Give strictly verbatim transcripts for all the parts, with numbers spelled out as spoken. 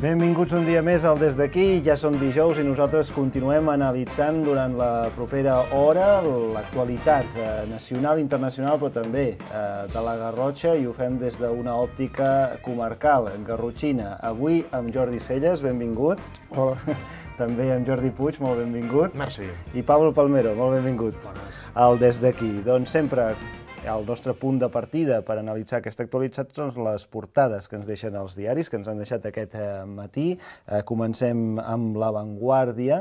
Benvinguts un dia més al Des d'Aquí. Ja som dijous i nosaltres continuem analitzant durant la propera hora l'actualitat nacional i internacional, però també de la Garrotxa, i ho fem des d'una òptica comarcal, garrotxina. Avui amb Jordi Celles, benvingut. Hola. També amb Jordi Puig, molt benvingut. Merci. I Pablo Palmero, molt benvingut. Bones. Al Des d'Aquí. Doncs sempre el nostre punt de partida per analitzar aquesta actualitat són les portades que ens deixen els diaris, que ens han deixat aquest matí. Comencem amb La Vanguardia.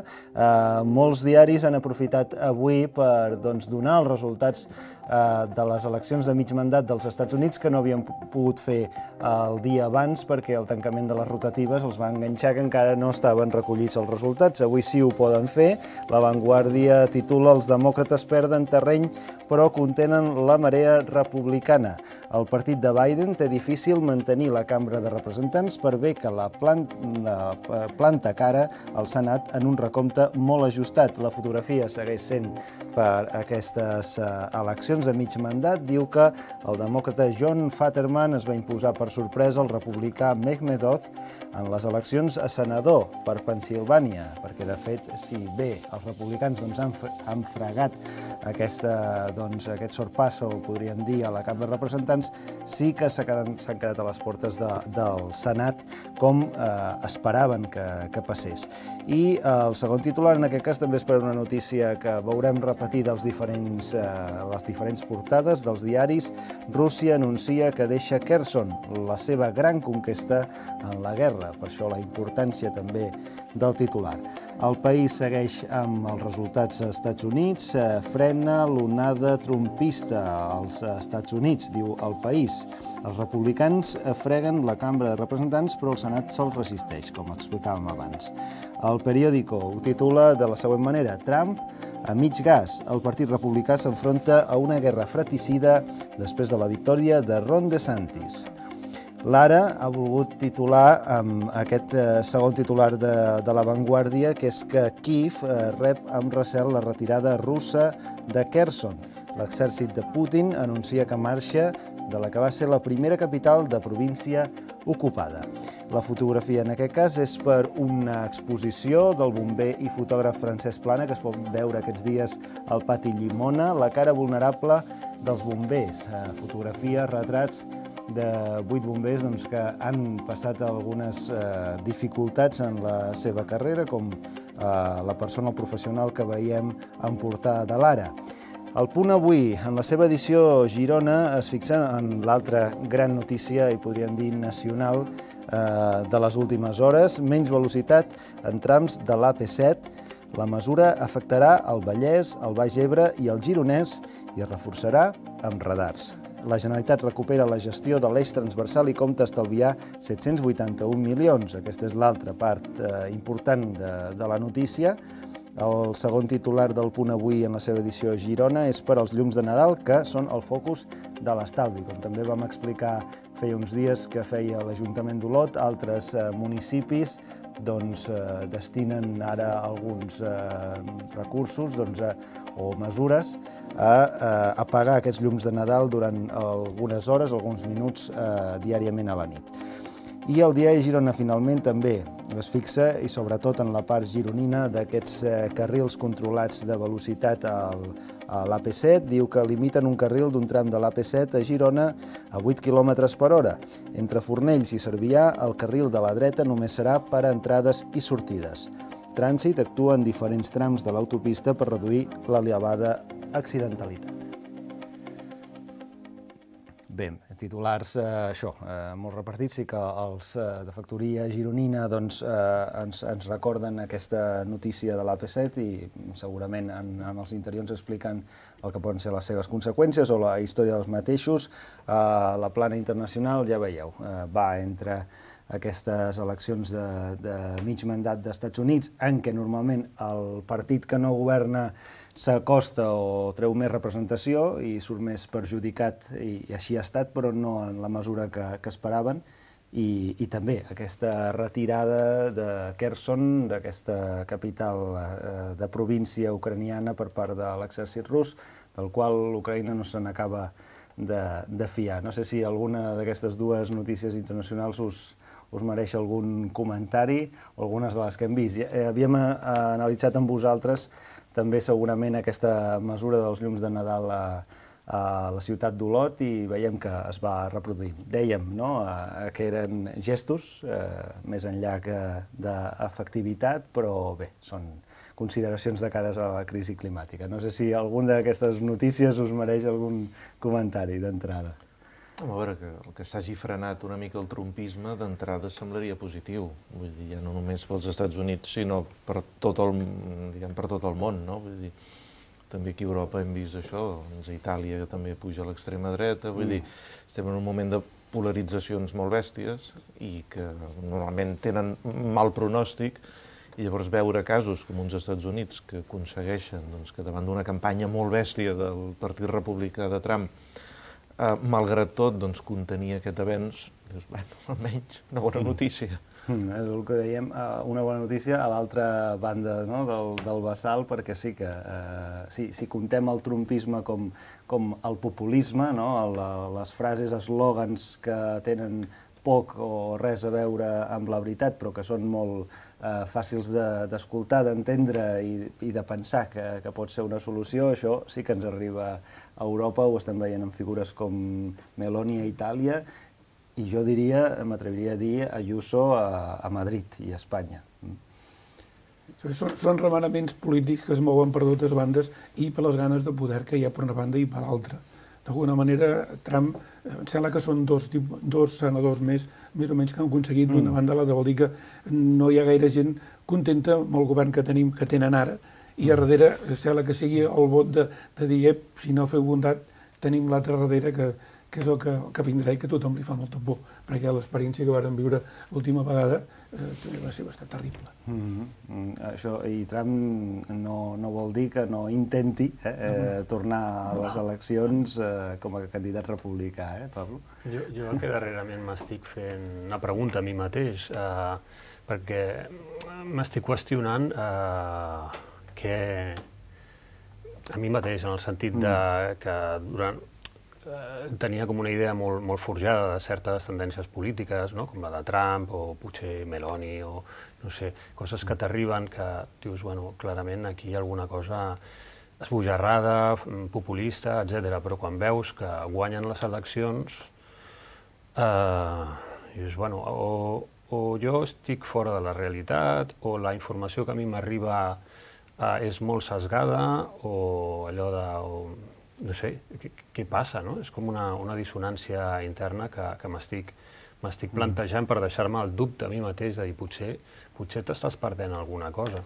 Molts diaris han aprofitat avui per donar els resultats de les eleccions de mig mandat dels Estats Units, que no havien pogut fer el dia abans perquè el tancament de les rotatives els va enganxar, que encara no estaven recollits els resultats. Avui sí ho poden fer. La Vanguardia titula "Els demòcrates perden terreny però contenen la marea republicana". El partit de Biden té difícil mantenir la Cambra de Representants per bé que la planta cara al Senat en un recompte molt ajustat. La fotografia segueix sent per aquestes eleccions de mig mandat. Diu que el demòcrata John Fetterman es va imposar per sorpresa al republicà Mehmet Oz en les eleccions a senador per Pennsilvània, perquè de fet, si bé els republicans han fregat aquesta Doncs aquest sorpasso, podríem dir, a la Cambra de Representants, sí que s'han quedat a les portes del Senat, com esperaven que passés. I el segon titular, en aquest cas, també és per una notícia que veurem repetida a les diferents portades dels diaris. Rússia anuncia que deixa Kherson, la seva gran conquesta en la guerra. Per això la importància també del titular. El país segueix amb els resultats als Estats Units, frena l'onada trumpista als Estats Units, diu El País. Els republicans freguen la Cambra de Representants, però el Senat se'ls resisteix, com explicàvem abans. El Periódico ho titula de la següent manera: Trump a mig gas. El Partit Republicà s'enfronta a una guerra fratricida després de la victòria de Ron DeSantis. L'Ara ha volgut titular amb aquest segon titular de La Vanguardia, que és que Kíev rep amb recel la retirada russa de Kherson. L'exèrcit de Putin anuncia que marxa de la que va ser la primera capital de província ocupada. La fotografia en aquest cas és per una exposició del bomber i fotògraf Francesc Plana, que es pot veure aquests dies al Pati Llimona, la cara vulnerable dels bombers. Fotografies, retrats de vuit bombers que han passat algunes dificultats en la seva carrera, com la persona professional que veiem en portada de l'Ara. El Punt Avui, en la seva edició Girona, es fixa en l'altra gran notícia, i podríem dir nacional, de les últimes hores: menys velocitat en trams de l'A P set. La mesura afectarà el Vallès, el Baix Ebre i el Gironès i es reforçarà amb radars. La Generalitat recupera la gestió de l'eix transversal i compta estalviar set-cents vuitanta-un milions. Aquesta és l'altra part important de la notícia. El segon titular del Punt Avui en la seva edició Girona és per als llums de Nadal, que són el focus de l'estalvi. Com també vam explicar feia uns dies que feia l'Ajuntament d'Olot, altres municipis destinen ara alguns recursos o mesures a apagar aquests llums de Nadal durant algunes hores, alguns minuts diàriament a la nit. I el diari Girona, finalment, també es fixa, i sobretot en la part gironina, d'aquests carrils controlats de velocitat a l'A P set. Diu que limiten un carril d'un tram de l'A P set a Girona a vuit quilòmetres per hora. Entre Fornells i Cervià, el carril de la dreta només serà per a entrades i sortides. Trànsit actua en diferents trams de l'autopista per reduir l'elevada accidentalitat. Bé, titulars, això, molt repartits. Sí que els de factoria gironina ens recorden aquesta notícia de l'A P set i segurament en els interiors expliquen el que poden ser les seves conseqüències o la història dels mateixos. La plana internacional, ja veieu, va entre aquestes eleccions de mig mandat dels Estats Units, en què normalment el partit que no governa s'acosta o treu més representació i surt més perjudicat, i així ha estat, però no en la mesura que esperaven. I també aquesta retirada de Kherson, d'aquesta capital de província ucraniana, per part de l'exèrcit rus, del qual l'Ucraïna no se n'acaba de fiar. No sé si alguna d'aquestes dues notícies internacionals us us mereix algun comentari o algunes de les que hem vist. Havíem analitzat amb vosaltres també segurament aquesta mesura dels llums de Nadal a, a la ciutat d'Olot i veiem que es va reproduint. Dèiem, no?, que eren gestos, eh, més enllà que d'efectivitat, però bé, són consideracions de cares a la crisi climàtica. No sé si alguna d'aquestes notícies us mereix algun comentari d'entrada. A veure, que el que s'hagi frenat una mica el trumpisme d'entrada semblaria positiu. Vull dir, ja no només pels Estats Units, sinó per tot el, diguem, per tot el món, no? Vull dir, també aquí a Europa hem vist això, doncs a Itàlia que també puja a l'extrema dreta, vull dir, estem en un moment de polaritzacions molt bèsties i que normalment tenen mal pronòstic, i llavors veure casos com uns Estats Units que aconsegueixen doncs, que davant d'una campanya molt bèstia del Partit Republicà de Trump, eh, malgrat tot, doncs, contenir aquest avenç, dius, bueno, almenys una bona notícia. Mm, és el que dèiem, una bona notícia a l'altra banda, no?, del, del bassal, perquè sí que, eh, si, si comptem el trumpisme com, com el populisme, no?, el, les frases, eslògans que tenen poc o res a veure amb la veritat, però que són molt eh, fàcils d'escoltar, de, d'entendre i, i de pensar que, que pot ser una solució, això sí que ens arriba a Europa, ho estem veient en figures com Meloni a Itàlia, i jo diria, m'atreviria a dir, Ayuso a, a Madrid i a Espanya. Són, són remenaments polítics que es mouen per totes bandes i per les ganes de poder que hi ha per una banda i per l'altra. D'alguna manera, Trump, em sembla que són dos, dos senadors més, més o menys que han aconseguit, d'una banda, la de vol dir que no hi ha gaire gent contenta amb el govern que tenim, que tenen ara, i a darrere sembla que sigui el vot de, de dir, si no feu bondat, tenim l'altre darrere que, que és el que, el que vindrà i que tothom li fa molta por, perquè l'experiència que vàrem viure l'última vegada eh, també va ser bastant terrible. Mm-hmm. Això, i Trump no, no vol dir que no intenti eh, eh, tornar a les eleccions eh, com a candidat republicà, eh, Pablo? Jo, jo que darrerament m'estic fent una pregunta a mi mateix, eh, perquè m'estic qüestionant eh, que a mi mateix, en el sentit de que durant tenia com una idea molt, molt forjada de certes tendències polítiques, no?, com la de Trump o potser Meloni o, no sé, coses que t'arriben que dius, bueno, clarament aquí hi ha alguna cosa esbojarrada, populista, etcètera. Però quan veus que guanyen les eleccions, eh, dius, bueno, o, o jo estic fora de la realitat, o la informació que a mi m'arriba eh, és molt sesgada, o allò de... O, no sé, què, què passa, no? És com una, una dissonància interna que, que m'estic m'estic plantejant per deixar-me el dubte a mi mateix de dir, potser, potser t'estàs perdent alguna cosa.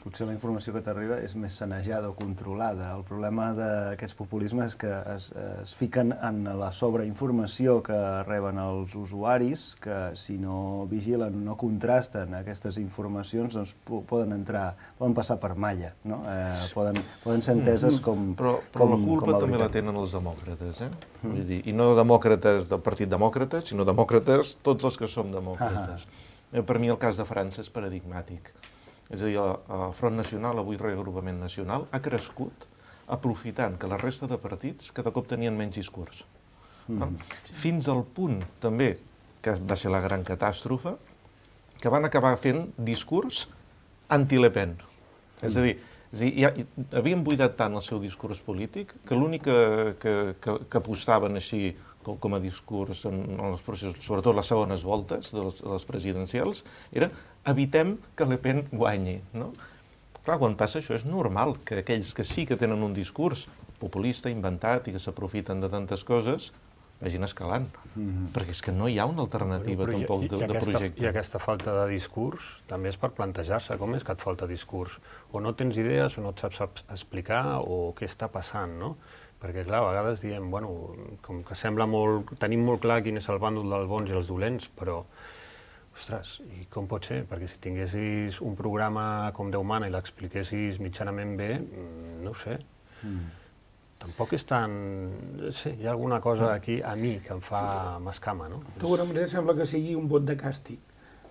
Potser la informació que t'arriba és més sanejada o controlada. El problema d'aquests populismes és que es, es fiquen en la sobreinformació que reben els usuaris, que si no vigilen, no contrasten aquestes informacions, doncs poden entrar, poden passar per malla, no? Eh, poden, poden ser enteses com... Però, però com, la culpa com també la tenen els demòcrates, eh? Mm. Vull dir, i no demòcrates del Partit Demòcrata, sinó demòcrates tots els que som demòcrates. Ah. Per mi el cas de França és paradigmàtic. És a dir, el Front Nacional, avui Reagrupament Nacional, ha crescut aprofitant que la resta de partits cada cop tenien menys discurs. Mm. Fins al punt, també, que va ser la gran catàstrofe, que van acabar fent discurs anti-Le Pen. Mm. És a dir, és a dir ja, havien buidat tant el seu discurs polític que l'únic que, que, que, que apostaven així com, com a discurs en, en els processos, sobretot les segones voltes de les, de les presidencials, era evitem que Le Pen guanyi, no? Clar, quan passa això és normal que aquells que sí que tenen un discurs populista, inventat i que s'aprofiten de tantes coses, vagin escalant. Mm-hmm. Perquè és que no hi ha una alternativa bueno, tampoc i, de, i aquesta, de projecte. I aquesta falta de discurs també és per plantejar-se com és que et falta discurs. O no tens idees, o no et saps explicar, o què està passant, no? Perquè, clar, a vegades diem, bueno, com que sembla molt... Tenim molt clar quin és el bàndol dels bons i els dolents, però... Ostres, i com pot ser? Perquè si tinguessis un programa com Déu mana i l'expliquessis mitjanament bé, no ho sé. Mm. Tampoc és tan... Sí, hi ha alguna cosa aquí a mi que em fa m'escama, no? D'alguna manera sembla que sigui un vot de càstig.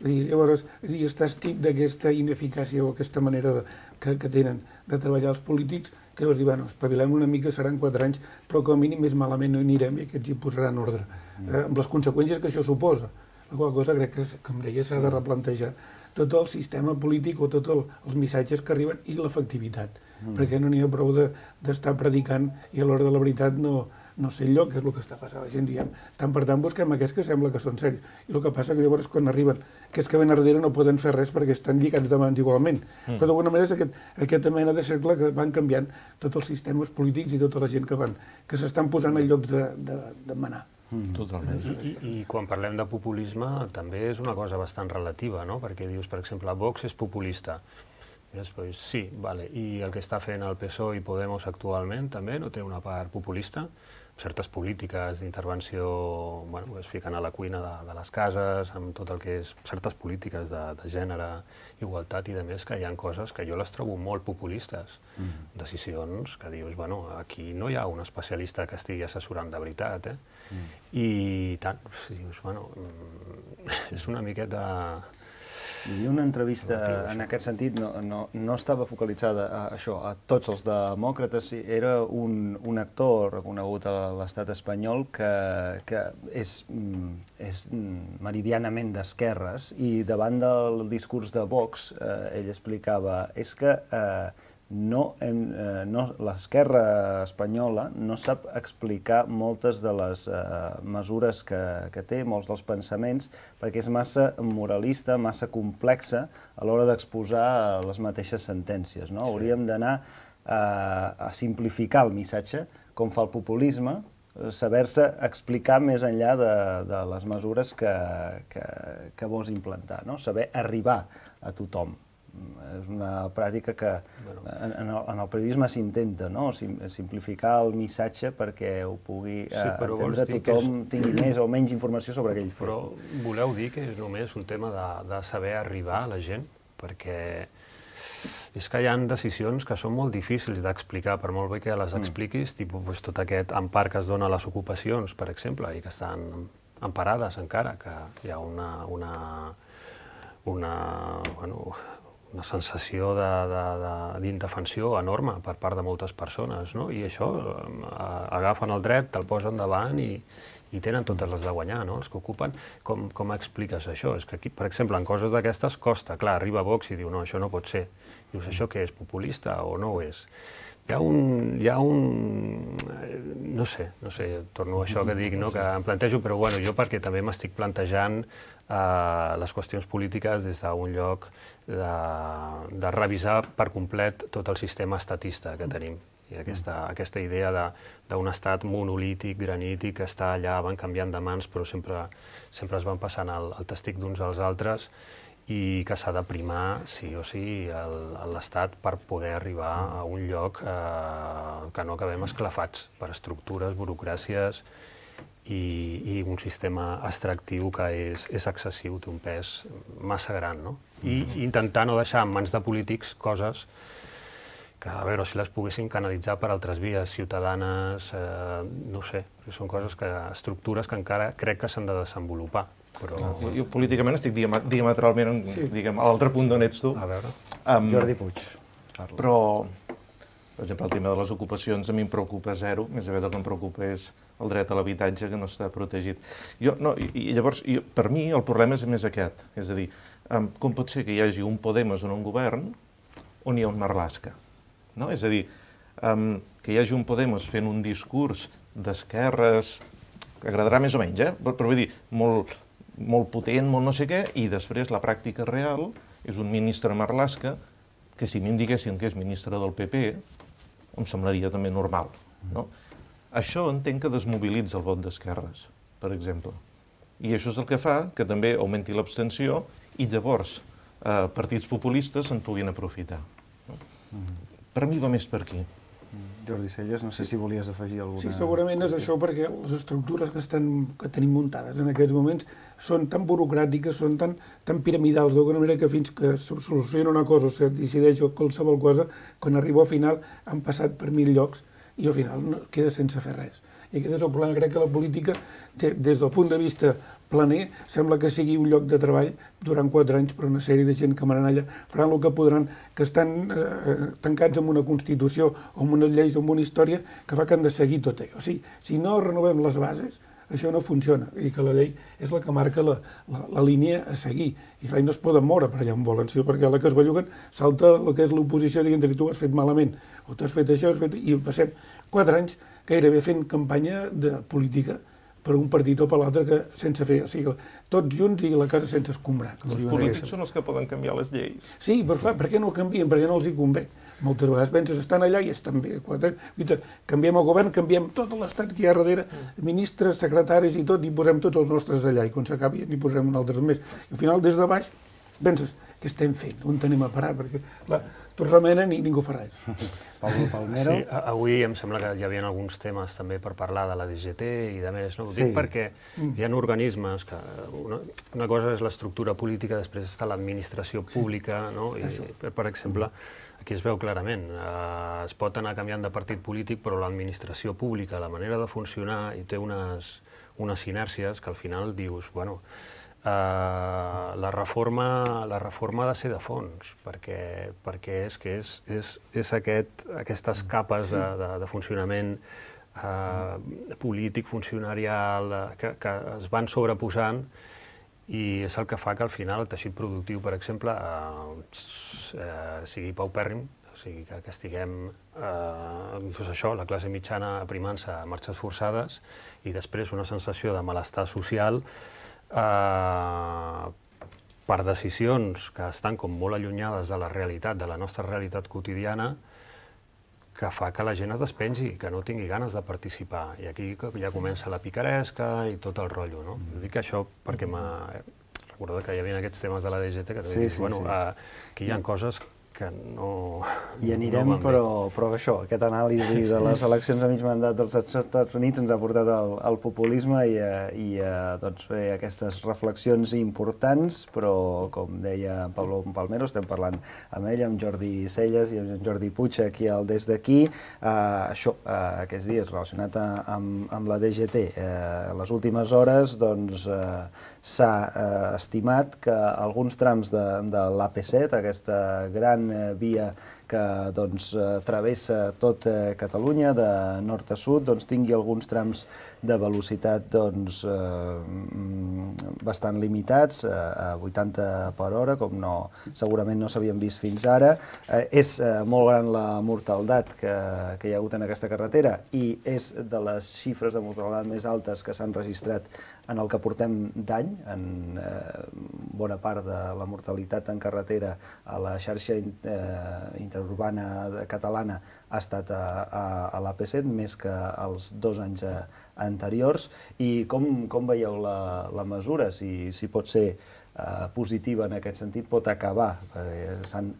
Llavors, estàs tip d'aquesta ineficàcia o aquesta manera de, que, que tenen de treballar els polítics, que llavors diuen, bueno, espavilem una mica, seran quatre anys, però com a mínim més malament no hi anirem i aquests hi posaran ordre. Mm. Eh, amb les conseqüències que això suposa. la qual cosa crec que, com deia, s'ha de replantejar tot el sistema polític o tots el, els missatges que arriben i l'efectivitat, mm. perquè no n'hi ha prou d'estar de, predicant i a l'hora de la veritat no, no sé el lloc, que és el que està passant. La gent diem, tant per tant busquem aquests que sembla que són seris. I el que passa que llavors quan arriben aquests que ven a darrere no poden fer res perquè estan lligats de mans igualment. Mm. Però d'alguna manera és aquest, aquesta mena de cercle que van canviant tots els sistemes polítics i tota la gent que van, que s'estan posant en llocs de, de, de manar. Mm. Totalment. I, i, I quan parlem de populisme també és una cosa bastant relativa, no? Perquè dius, per exemple, Vox és populista. I després, sí, vale. I el que està fent el P S O E i Podemos actualment també no té una part populista? Certes polítiques d'intervenció, bueno, es fiquen a la cuina de, de les cases, amb tot el que és certes polítiques de, de gènere, igualtat i de més, que hi ha coses que jo les trobo molt populistes. Mm. Decisions que dius, bueno, aquí no hi ha un especialista que estigui assessorant de veritat, eh? Mm. I tant, dius, bueno, és una miqueta... Hi havia una entrevista en aquest sentit, no, no, no estava focalitzada a això, a tots els demòcrates, era un, un actor reconegut a l'estat espanyol que, que és, és meridianament d'esquerres i davant del discurs de Vox eh, ell explicava és que eh, no, eh, no, l'esquerra espanyola no sap explicar moltes de les eh, mesures que, que té, molts dels pensaments, perquè és massa moralista, massa complexa a l'hora d'exposar les mateixes sentències. No? Sí. Hauríem d'anar eh, a simplificar el missatge, com fa el populisme, saber-se explicar més enllà de, de les mesures que, que, que vols implantar, no? Saber arribar a tothom. És una pràctica que bueno. en, en, el, en el periodisme s'intenta, no? Sim, simplificar el missatge perquè ho pugui sí, eh, entendre tothom, és... tingui més o menys informació sobre aquell fet. Però voleu dir que és només un tema de, de saber arribar a la gent? Perquè és que hi ha decisions que són molt difícils d'explicar, per molt bé que les expliquis, mm. tipus pues, tot aquest empar que es dona a les ocupacions, per exemple, i que estan emparades encara, que hi ha una, una, una, bueno, una sensació d'indefensió enorme per part de moltes persones, no? I això, agafen el dret, te'l posen davant i, i tenen totes les de guanyar, no? Els que ocupen. Com, com expliques això? És que aquí, per exemple, en coses d'aquestes costa. Clar, arriba Vox i diu, no, això no pot ser. Dius, això què és, populista o no ho és? Hi ha un... Hi ha un no sé, no sé, torno a això que dic, no? Que em plantejo, però bueno, jo perquè també m'estic plantejant Uh, les qüestions polítiques des d'un lloc de, de revisar per complet tot el sistema estatista que tenim. I aquesta, aquesta idea d'un estat monolític, granític, que està allà, van canviant de mans, però sempre, sempre es van passant el, el testic d'uns als altres i que s'ha de primar, sí o sí, l'estat per poder arribar a un lloc eh, que no acabem esclafats per estructures, burocràcies, I, i un sistema extractiu que és, és excessiu, té un pes massa gran, no? I intentar no deixar en mans de polítics coses que, a veure, si les poguessin canalitzar per altres vies ciutadanes, eh, no sé, són coses que, estructures que encara crec que s'han de desenvolupar. Però... Jo políticament estic diametralment sí. diguem, a l'altre punt d'on ets tu. A veure. Um, Jordi Puig. Parla. Però, per exemple, el tema de les ocupacions a mi em preocupa zero, més aviat el que em preocupa és el dret a l'habitatge que no està protegit. Jo, no, i, i llavors, jo, per mi, el problema és més aquest. És a dir, um, com pot ser que hi hagi un Podemos en un govern on hi ha un Marlaska? No? És a dir, um, que hi hagi un Podemos fent un discurs d'esquerres, que agradarà més o menys, eh? però, però vull dir, molt, molt potent, molt no sé què, i després la pràctica real és un ministre Marlaska que si em diguessin que és ministre del P P, em semblaria també normal, no? Això entenc que desmobilitza el vot d'esquerres, per exemple. I això és el que fa que també augmenti l'abstenció i llavors eh, partits populistes se'n puguin aprofitar. No? Mm-hmm. Per mi va més per aquí. Jordi Celles, no sé si volies afegir alguna... Sí, segurament és això, perquè les estructures que, estan, que tenim muntades en aquests moments són tan burocràtiques, són tan, tan piramidals, d'alguna manera que fins que se soluciona una cosa o se decideix qualsevol cosa, quan arriba al final han passat per mil llocs i al final no, queda sense fer res. I aquest és el problema. Crec que la política, des del punt de vista planer, sembla que sigui un lloc de treball durant quatre anys per una sèrie de gent que maranalla, faran el que podran, que estan eh, tancats amb una Constitució o amb unes lleis o amb una història que fa que han de seguir tot allò. O sigui, si no renovem les bases, això no funciona i que la llei és la que marca la, la, la línia a seguir. I clar, no es poden moure per allà on volen, sinó perquè a la que es belluguen salta el que és l'oposició dient que tu has fet malament, o tu has fet això, has fet... i passem quatre anys gairebé fent campanya de política per un partit o per l'altre que sense fer, o sigui, tots junts i la casa sense escombrar. Els polítics són els que poden canviar les lleis. Sí, però clar, per què no canvien? Perquè no els hi convé. Moltes vegades penses, estan allà i estan bé. Canviem el govern, canviem tot l'estat que hi ha darrere, ministres, secretaris i tot, i posem tots els nostres allà, i quan s'acabi n'hi posem un altre més. I al final, des de baix, penses, què estem fent? On tenim a parar? Perquè, clar, tots remenen i ningú fa res. Pablo Palmero. Sí, avui em sembla que hi havia alguns temes també per parlar de la D G T i de més, no? Ho dic perquè hi ha organismes que... Una, una cosa és l'estructura política, després està l'administració pública, no? I, per exemple, aquí es veu clarament, eh, es pot anar canviant de partit polític, però l'administració pública, la manera de funcionar, i té unes, unes inèrcies que al final dius, bueno, Uh, la reforma la reforma ha de ser de fons, perquè, perquè és que és, és, és aquest, aquestes capes de, de, de funcionament uh, polític, funcionarial, uh, que, que es van sobreposant i és el que fa que al final el teixit productiu, per exemple, uh, uh, sigui paupèrrim, o sigui que, que estiguem, uh, doncs això, la classe mitjana aprimant-se a marxes forçades i després una sensació de malestar social Uh, per decisions que estan com molt allunyades de la realitat, de la nostra realitat quotidiana, que fa que la gent es despengi, que no tingui ganes de participar. I aquí ja comença la picaresca i tot el rotllo, no? Mm. Dic això perquè m'ha... Recordo que hi havia aquests temes de la D G T que sí, dius, sí, bueno, sí. Uh, que hi ha coses que no... Hi anirem, no però, però això, aquest anàlisi de les eleccions a mig mandat dels Estats Units ens ha portat al, al populisme i a, i a doncs, fer aquestes reflexions importants, però, com deia Pablo Palmero, estem parlant amb ell, amb Jordi Celles i amb Jordi Puig aquí al Des d'Aquí. Uh, això, uh, aquests dies, relacionat a, amb, amb la D G T. Uh, les últimes hores, doncs, uh, s'ha uh, estimat que alguns trams de, de l'A P set, aquesta gran via que doncs, travessa tot Catalunya, de nord a sud, doncs, tingui alguns trams de velocitat doncs, eh, bastant limitats, eh, a vuitanta per hora, com no, segurament no s'havien vist fins ara. Eh, és eh, molt gran la mortaldat que, que hi ha hagut en aquesta carretera i és de les xifres de mortaldat més altes que s'han registrat en el que portem d'any. En eh, bona part de la mortalitat en carretera a la xarxa eh, interurbana catalana ha estat a, a, a l'A P set, més que els dos anys a, anteriors. I com, com veieu la, la mesura? Si, si pot ser eh, positiva en aquest sentit, pot acabar? S'han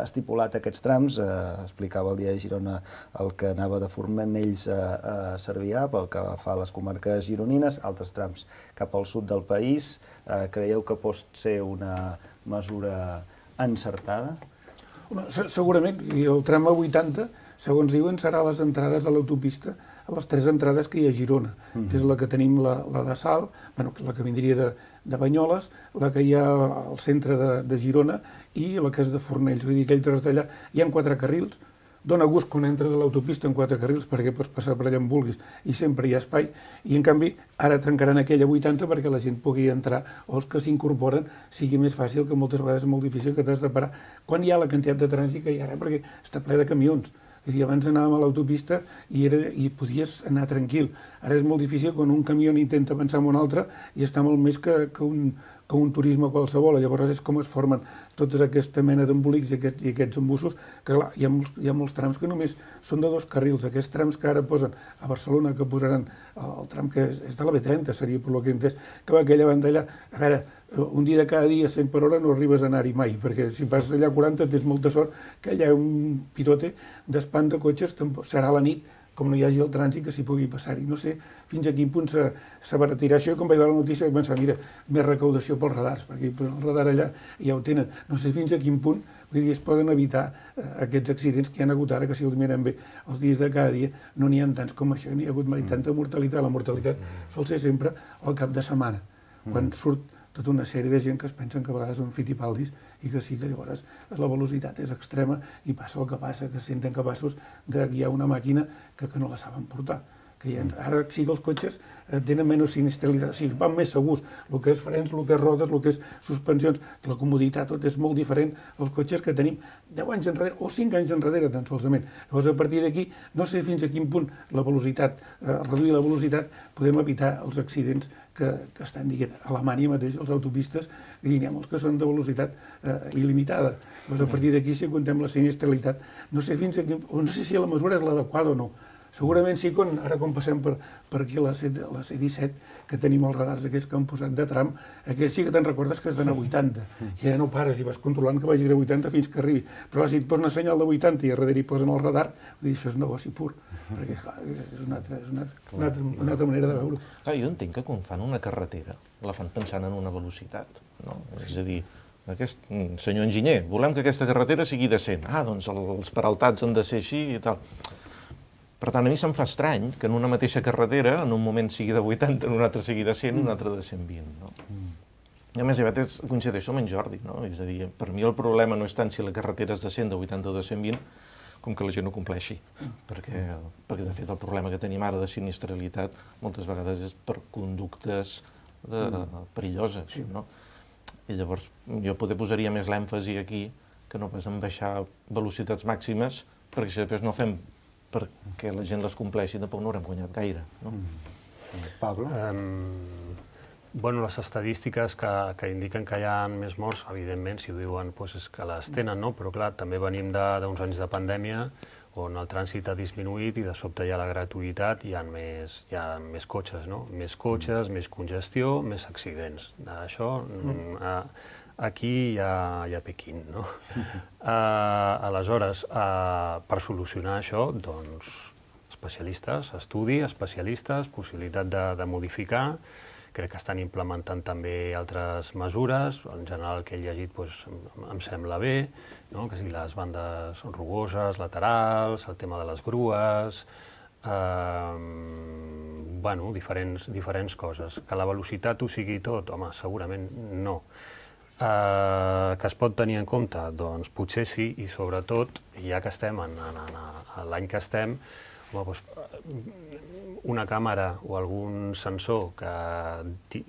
estipulat aquests trams, eh, explicava el dia de Girona el que anava de Fornells a, a Cervià, pel que fa a les comarques gironines, altres trams cap al sud del país. Eh, creieu que pot ser una mesura encertada? Segurament, i el tram A vuitanta, segons diuen, serà les entrades a l'autopista, a les tres entrades que hi ha a Girona. Mm-hmm. És la que tenim, la, la de Salt, bueno, la que vindria de, de Banyoles, la que hi ha al centre de, de Girona i la que és de Fornells. Vull dir, aquell tros d'allà hi ha quatre carrils, dona gust quan entres a l'autopista en quatre carrils perquè pots passar per allà on vulguis i sempre hi ha espai, i en canvi ara trencaran aquella vuitanta perquè la gent pugui entrar o els que s'incorporen sigui més fàcil, que moltes vegades és molt difícil que t'has de parar quan hi ha la quantitat de trànsit que hi ha ara, perquè està ple de camions. I abans anàvem a l'autopista i, era, i podies anar tranquil. Ara és molt difícil quan un camió intenta avançar amb un altre i està molt més que, que, un, que un turisme qualsevol. Llavors és com es formen tota aquesta mena d'embolics i aquests, i aquests embussos, que clar, hi ha, molts, hi ha molts trams que només són de dos carrils. Aquests trams que ara posen a Barcelona, que posaran el tram que és, és de la B trenta, seria per lo que he entès, que va aquella banda allà, a veure, un dia de cada dia, cent per hora, no arribes a anar-hi mai, perquè si passes allà quaranta tens molta sort que allà hi ha un pirote d'espant de cotxes, serà la nit, com no hi hagi el trànsit, que s'hi pugui passar-hi. No sé fins a quin punt s'abaratirà això, i quan vaig veure la notícia vaig pensar, mira, més recaudació pels radars, perquè el radar allà ja ho tenen. No sé fins a quin punt, vull dir, es poden evitar eh, aquests accidents que hi ha hagut ara, que si els mirem bé els dies de cada dia no n'hi ha tants com això, n'hi ha hagut mai tanta mortalitat. La mortalitat sol ser sempre al cap de setmana, quan surt tota una sèrie de gent que es pensen que a vegades són fitipaldis i que sí que llavors la velocitat és extrema i passa el que passa, que se senten capaços de guiar una màquina que, que no la saben portar. que hi ha, ara sí que els cotxes tenen menys sinistralitat, o sigui, van més segurs, el que és frens, el que és rodes, el que és suspensions, la comoditat, tot és molt diferent als cotxes que tenim deu anys enrere o cinc anys enrere, tan solament. Llavors, a partir d'aquí, no sé fins a quin punt la velocitat, eh, reduir la velocitat, podem evitar els accidents que, que estan dient a Alemanya mateix, els autopistes, i n'hi ha molts que són de velocitat eh, il·limitada. Llavors, a partir d'aquí, si contem la sinistralitat, no sé fins a quin, o no sé si la mesura és l'adequada o no. Segurament sí, quan, ara quan passem per, per aquí a la C disset, que tenim els radars aquells que han posat de tram, aquells sí que te'n recordes que has d'anar a vuitanta, i ara no pares i vas controlant que vagis a vuitanta fins que arribi. Però si et posen una senyal de vuitanta i a darrere hi posen el radar, vull dir, això és negoci pur, perquè clar, és una altra, és una altra, una altra, una altra manera de veure-ho. Clar, jo entenc que quan fan una carretera la fan pensant en una velocitat, no? És a dir, aquest senyor enginyer, volem que aquesta carretera sigui decent. Ah, doncs els peraltats han de ser així i tal. Per tant, a mi se'm fa estrany que en una mateixa carretera, en un moment sigui de vuitanta, en un altre sigui de cent, en un altre de cent vint. No? Mm. I a més, a vegades coincideixo amb en Jordi. No? És a dir, per mi el problema no és tant si la carretera és de cent, de vuitanta o de cent vint, com que la gent no compleixi. Mm. Perquè, perquè, de fet, el problema que tenim ara de sinistralitat moltes vegades és per conductes de, mm. perilloses. Sí. No? I llavors, jo poder posaria més l'èmfasi aquí que no pas en baixar velocitats màximes, perquè si després no fem perquè la gent les compleixi, tampoc no haurem guanyat gaire. No? Mm. Pablo? Um, bueno, les estadístiques que, que indiquen que hi ha més morts, evidentment, si ho diuen, doncs és que les tenen, no? Però clar, també venim d'uns anys de pandèmia on el trànsit ha disminuït i de sobte hi ha la gratuïtat i hi ha més, hi ha més cotxes, no? Més cotxes, més congestió, més accidents. Això... Mm. Uh, Aquí hi ha, hi ha Pequín, no? Uh, aleshores, uh, per solucionar això, doncs, especialistes, estudi, especialistes, possibilitat de, de modificar. Crec que estan implementant també altres mesures. En general, el que he llegit doncs, em, em sembla bé, no? Que sigui les bandes rugoses, laterals, el tema de les grues, uh, bueno, diferents, diferents coses. Que la velocitat ho sigui tot? Home, segurament no. Uh, que es pot tenir en compte? Doncs potser sí, i sobretot, ja que estem en, en, en, en l'any que estem, home, doncs, una càmera o algun sensor que,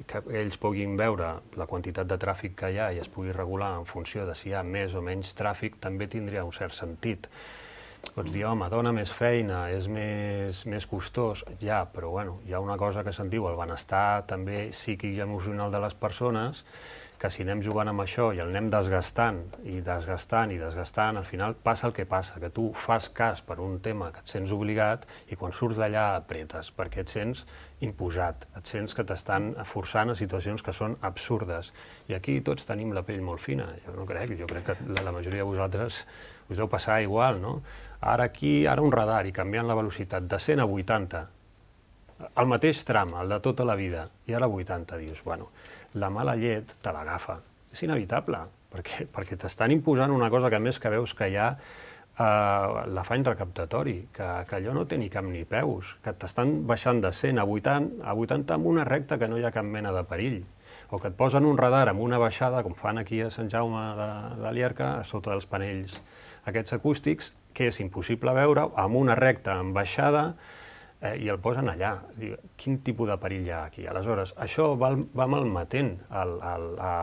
que ells puguin veure la quantitat de tràfic que hi ha i es pugui regular en funció de si hi ha més o menys tràfic, també tindria un cert sentit. Pots dir, home, dona més feina, és més, més costós, ja, però bueno, hi ha una cosa que se'n diu, el benestar també psíquic i emocional de les persones, que si anem jugant amb això i el anem desgastant i desgastant i desgastant, al final passa el que passa, que tu fas cas per un tema que et sents obligat i quan surts d'allà apretes, perquè et sents imposat, et sents que t'estan forçant a situacions que són absurdes. I aquí tots tenim la pell molt fina, jo no crec, jo crec que la, la majoria de vosaltres us deu passar igual, no? Ara aquí, ara un radar i canviant la velocitat de cent a vuitanta, el mateix tram, el de tota la vida, i ara vuitanta, dius, bueno, la mala llet te l'agafa. És inevitable, perquè, perquè t'estan imposant una cosa que a més que veus que hi ha uh, l'afany recaptatori, que, que allò no té ni cap ni peus, que t'estan baixant de cent a vuitanta, a vuitanta amb una recta que no hi ha cap mena de perill, o que et posen un radar amb una baixada, com fan aquí a Sant Jaume de, de Llierca, a sota dels panells aquests acústics, que és impossible veure, amb una recta en baixada, Eh, i el posen allà. Diu, quin tipus de perill hi ha aquí? Aleshores, això va, va malmetent el, el,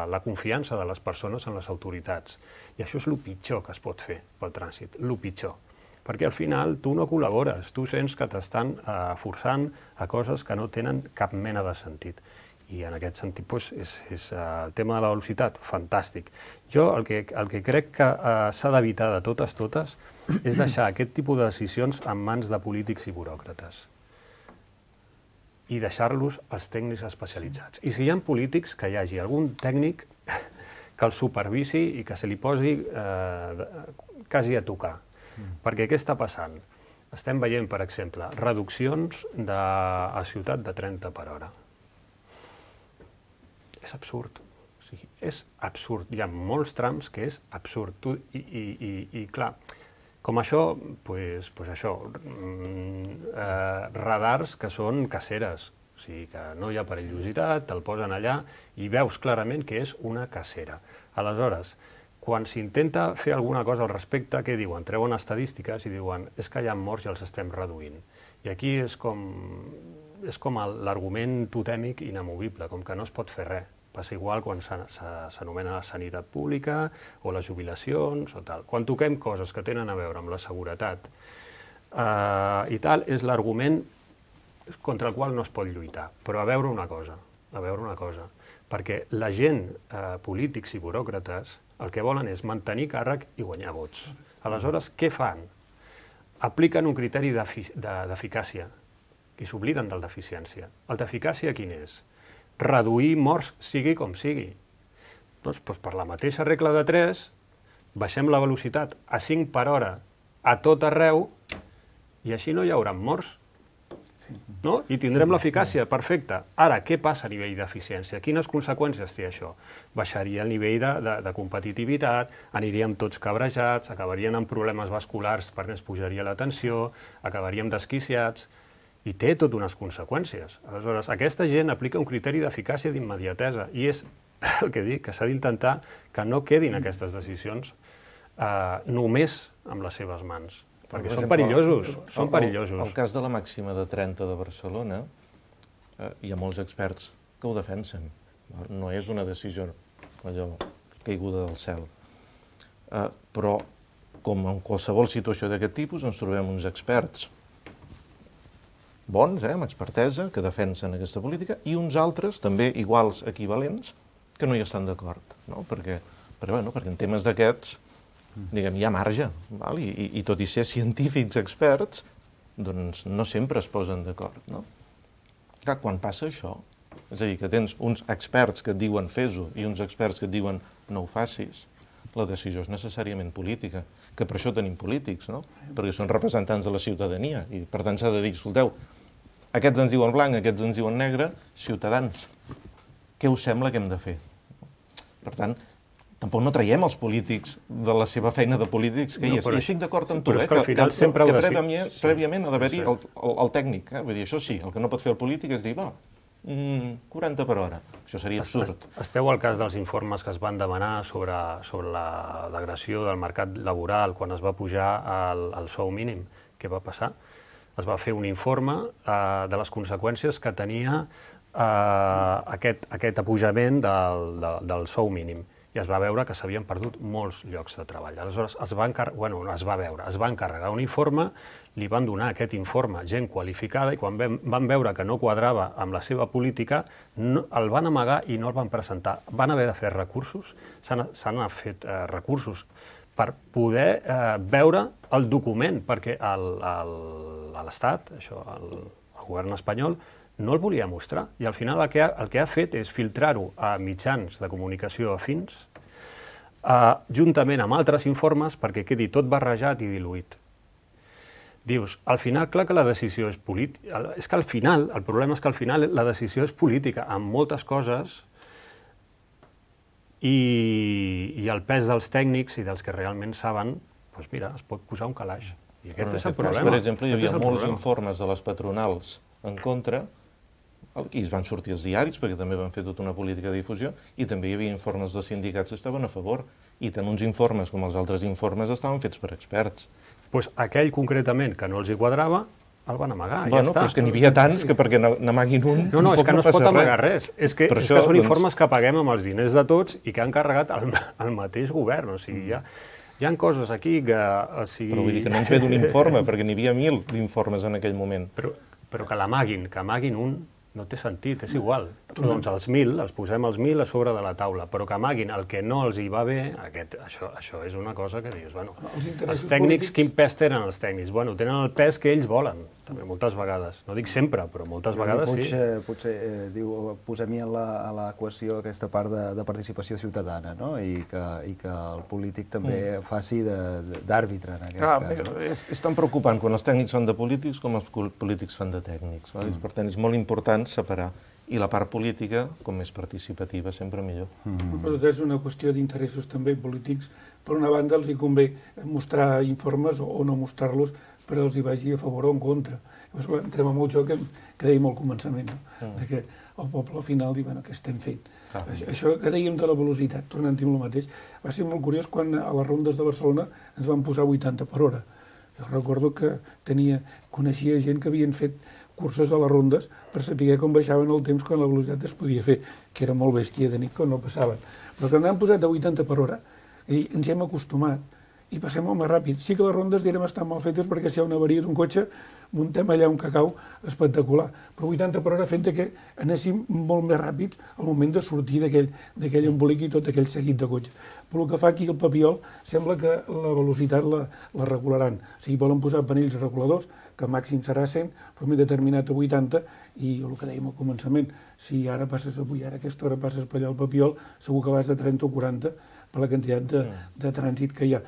la confiança de les persones en les autoritats. I això és el pitjor que es pot fer pel trànsit, el pitjor. Perquè al final tu no col·labores, tu sents que t'estan eh, forçant a coses que no tenen cap mena de sentit. I en aquest sentit doncs, és, és uh, el tema de la velocitat, fantàstic. Jo el que, el que crec que uh, s'ha d'evitar de totes, totes, és deixar aquest tipus de decisions en mans de polítics i buròcrates i deixar-los als tècnics especialitzats. I si hi ha polítics, que hi hagi algun tècnic que el supervisi i que se li posi eh, quasi a tocar. Mm. Perquè què està passant? Estem veient, per exemple, reduccions de, a ciutat de trenta per hora. És absurd. O sigui, és absurd. Hi ha molts trams que és absurd. Tu, i, i, i, I clar, com això, pues, pues això, mm, eh, radars que són caceres, o sigui que no hi ha perillositat, te'l posen allà i veus clarament que és una cacera. Aleshores, quan s'intenta fer alguna cosa al respecte, què diuen? Treuen estadístiques i diuen és que hi ha morts i els estem reduint. I aquí és com, és com l'argument totèmic inamovible, com que no es pot fer res. Passa igual quan s'anomena la sanitat pública o les jubilacions o tal. Quan toquem coses que tenen a veure amb la seguretat eh, i tal, és l'argument contra el qual no es pot lluitar. Però a veure una cosa, a veure una cosa, perquè la gent, eh, polítics i buròcrates, el que volen és mantenir càrrec i guanyar vots. Aleshores, què fan? Apliquen un criteri d'eficàcia i s'obliden del d'eficiència. El d'eficàcia quin és? Reduir morts sigui com sigui. Doncs, doncs per la mateixa regla de tres, baixem la velocitat a cinc per hora a tot arreu i així no hi haurà morts. No? I tindrem l'eficàcia, perfecte. Ara, què passa a nivell d'eficiència? Quines conseqüències té això? Baixaria el nivell de, de, de competitivitat, aniríem tots cabrejats, acabarien amb problemes vasculars perquè ens pujaria la tensió, acabaríem desquiciats, i té tot unes conseqüències. Aleshores, aquesta gent aplica un criteri d'eficàcia d'immediatesa i és el que dic, que s'ha d'intentar que no quedin aquestes decisions eh, només amb les seves mans. Perquè són perillosos, són perillosos. El cas de la màxima de trenta de Barcelona, eh, hi ha molts experts que ho defensen. No és una decisió allò caiguda del cel. Eh, però, com en qualsevol situació d'aquest tipus, ens trobem uns experts bons, eh, amb expertesa, que defensen aquesta política, i uns altres, també iguals, equivalents, que no hi estan d'acord. No? Perquè, perquè, bueno, perquè en temes d'aquests, diguem, hi ha marge, val? I, i, i tot i ser científics experts, doncs no sempre es posen d'acord. No? Clar, quan passa això, és a dir, que tens uns experts que et diuen fes-ho i uns experts que et diuen no ho facis, la decisió és necessàriament política, que per això tenim polítics, no? Perquè són representants de la ciutadania i per tant s'ha de dir, escolteu, aquests ens diuen blanc, aquests ens diuen negre, ciutadans, què us sembla que hem de fer? Per tant, tampoc no traiem els polítics de la seva feina de polítics que hi és. I estic d'acord amb tu, eh, que, que, que prèviament, prèviament ha d'haver-hi el, el, el tècnic. Eh? Vull dir, això sí, el que no pot fer el polític és dir, va, quaranta per hora. Això seria absurd. Esteu al cas dels informes que es van demanar sobre, sobre la degressió del mercat laboral quan es va pujar el, el sou mínim. Què va passar? Es va fer un informe eh, de les conseqüències que tenia eh, aquest, aquest apujament del, del, del sou mínim. I es va veure que s'havien perdut molts llocs de treball. Aleshores, es va, encar... bueno, es va veure, es va encarregar un informe, li van donar aquest informe gent qualificada i quan van veure que no quadrava amb la seva política, no, el van amagar i no el van presentar. Van haver de fer recursos, s'han fet eh, recursos per poder eh, veure el document, perquè l'Estat, això, el, el govern espanyol, no el volia mostrar. I al final el que ha, el que ha fet és filtrar-ho a mitjans de comunicació afins, eh, juntament amb altres informes, perquè quedi tot barrejat i diluït. Dius, al final, clar que la decisió és política. És que al final, el problema és que al final la decisió és política, amb moltes coses, i, i el pes dels tècnics i dels que realment saben, doncs mira, es pot posar un calaix. I aquest és el problema. Per exemple, hi havia molts informes de les patronals en contra, i es van sortir els diaris, perquè també van fer tota una política de difusió, i també hi havia informes dels sindicats que estaven a favor, i tant uns informes com els altres informes estaven fets per experts. Doncs aquell concretament que no els hi quadrava, el van amagar, ja bueno, està. Però és que n'hi havia tants que perquè n'amaguin un... No, no, és que no es pot amagar res. És que, és que són informes que paguem amb els diners de tots i que han carregat el mateix govern. O sigui, hi ha, hi ha coses aquí que... O sigui... Però vull dir que no ens ve d'un informe, perquè n'hi havia mil d'informes en aquell moment. Però, però que l'amaguin, que amaguin un, no té sentit, és igual. Doncs els mil, els posem els mil a sobre de la taula, però que amaguin el que no els hi va bé, aquest, això, això és una cosa que dius, bueno, els tècnics, quin pes tenen els tècnics? Bueno, tenen el pes que ells volen, també moltes vegades. No dic sempre, però moltes vegades sí. Potser, potser eh, diu, posem-hi a l'equació aquesta part de, de participació ciutadana, no? I que, i que el polític també mm. faci d'àrbitre en aquest Clar, cas. No? És, és tan preocupant quan els tècnics fan de polítics com els polítics fan de tècnics. Mm. Per tant, és molt important separar. I la part política, com més participativa, sempre millor. Mm-hmm. Però és una qüestió d'interessos també polítics. Per una banda, els hi convé mostrar informes o no mostrar-los, però els hi vagi a favor o en contra. Llavors, entrem en el joc que, que dèiem al començament, no? Mm. De que el poble al final diu, bueno, què estem fent? Ah, això, això que dèiem de la velocitat, tornant a dir el mateix, va ser molt curiós quan a les rondes de Barcelona ens van posar vuitanta per hora. Jo recordo que tenia, coneixia gent que havien fet curses a les rondes per saber com baixaven el temps quan la velocitat es podia fer, que era molt bèstia de nit quan no passaven. Però que n'han posat de vuitanta per hora i ens hem acostumat i passem molt més ràpid. Sí que les rondes direm estan mal fetes perquè si hi ha una avaria d'un cotxe muntem allà un cacau espectacular, però vuitanta per hora fent que anéssim molt més ràpids al moment de sortir d'aquell embolic i tot aquell seguit de cotxes. Però el que fa aquí el Papiol sembla que la velocitat la, la regularan. O sigui, volen posar panells reguladors, que màxim serà cent, però m'he determinat a vuitanta, i el que dèiem al començament, si ara passes avui, ara a aquesta hora passes per allà al Papiol, segur que vas a trenta o quaranta per la quantitat de, de trànsit que hi ha.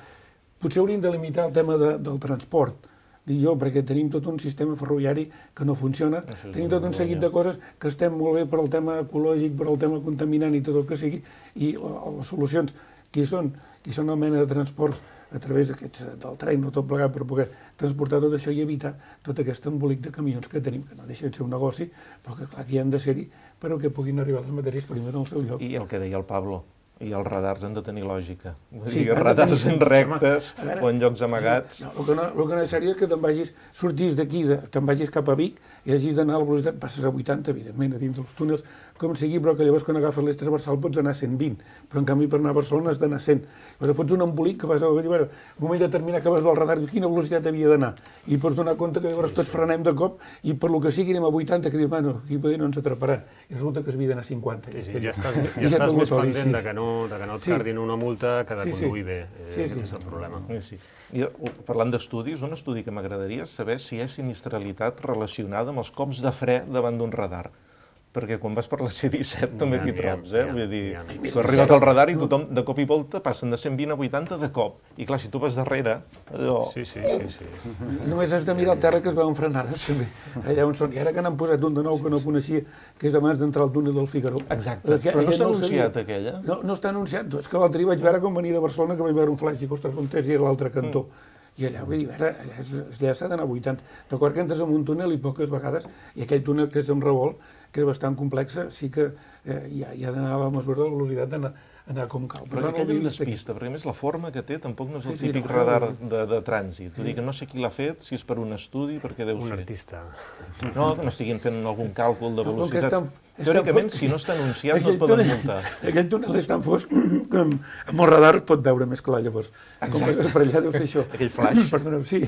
Potser hauríem de limitar el tema de, del transport, dic jo, perquè tenim tot un sistema ferroviari que no funciona, tenim tot un seguit de coses que estem molt bé per al tema ecològic, per al tema contaminant i tot el que sigui, i les solucions qui són, qui són una mena de transports a través del tren o tot plegat per poder transportar tot això i evitar tot aquest embolic de camions que tenim, que no deixen de ser un negoci, però que clar que hi han de ser-hi però que puguin arribar les matèries primeres al seu lloc. I el que deia el Pablo, i els radars han de tenir lògica. Vull Sí, dir, han de radars tenir- en rectes a veure, o en llocs amagats. Sí, no, el, que no, el que no és seriós és que te'n vagis, sortis d'aquí, de- te'n vagis cap a Vic i hagis d'anar a la velocitat, passes a vuitanta, evidentment, a dins dels túnels, com sigui, però que llavors quan agafes l'est transversal pots anar a cent vint, però en canvi per anar a Barcelona has d'anar a cent. Llavors fots un embolic que vas a dir, bueno, un moment determinat que vas al radar, dius, quina velocitat havia d'anar? I pots donar compte que llavors tots frenem de cop i per lo que sigui anem a vuitanta, que dius, bueno, aquí poder no ens atraparan. I resulta que es havia d'anar a cinquanta. Sí, sí, ja estàs, I ja estàs et més motori, pendent sí. de que no, de que no et Sí. cardin una multa que de Sí, sí. conduir bé. Eh, Sí, Aquest sí. és el problema. Sí, sí. I, parlant d'estudis, un estudi que m'agradaria és saber si hi ha sinistralitat relacionada amb els cops de fre davant d'un radar. Perquè quan vas per la C disset també N'hi ha, t'hi n'hi ha, trobes, eh? n'hi ha, Vull dir, n'hi ha. tu has arribat al radar i tothom de cop i volta passen de cent vint a vuitanta de cop. I clar, si tu vas darrere, allò... Sí, sí, sí, sí. Només has de mirar al terra que es veuen frenades, també. Allà on són. I ara que n'han posat un de nou que no coneixia, que és abans d'entrar al túnel del Figaro. Exacte. Que Però no aquest està el sabia. anunciat, aquella? No, no està anunciat. És que l'altre dia vaig veure com venia de Barcelona, que vaig veure un flash i ostres, on és i era l'altre cantó. I allà, vull dir, ara, allà, és- allà s'ha d'anar a vuitanta. D'acord que entres en un túnel i poques vegades, i aquell túnel que és en revolt, que és bastant complexa, sí que eh, hi ha, hi ha d'anar a la mesura de la velocitat d'anar anar com cal. Però no aquella l'havia em vist aquí. despista, perquè a més la forma que té tampoc no és el Sí, sí, típic no, radar no. de, de trànsit. Vull dir que no sé qui l'ha fet, si és per un estudi, perquè deu Un ser. artista. No, que no estiguin fent algun càlcul de No, com que velocitats. és tan- és tan Teòricament, fosc. si no està anunciat, no Aquell et poden túnel- multar. Aquell túnel és tan fosc que amb, amb el radar pot veure més clar, llavors. Com que és per allà deu ser això. Aquell flash. Perdoneu, sí.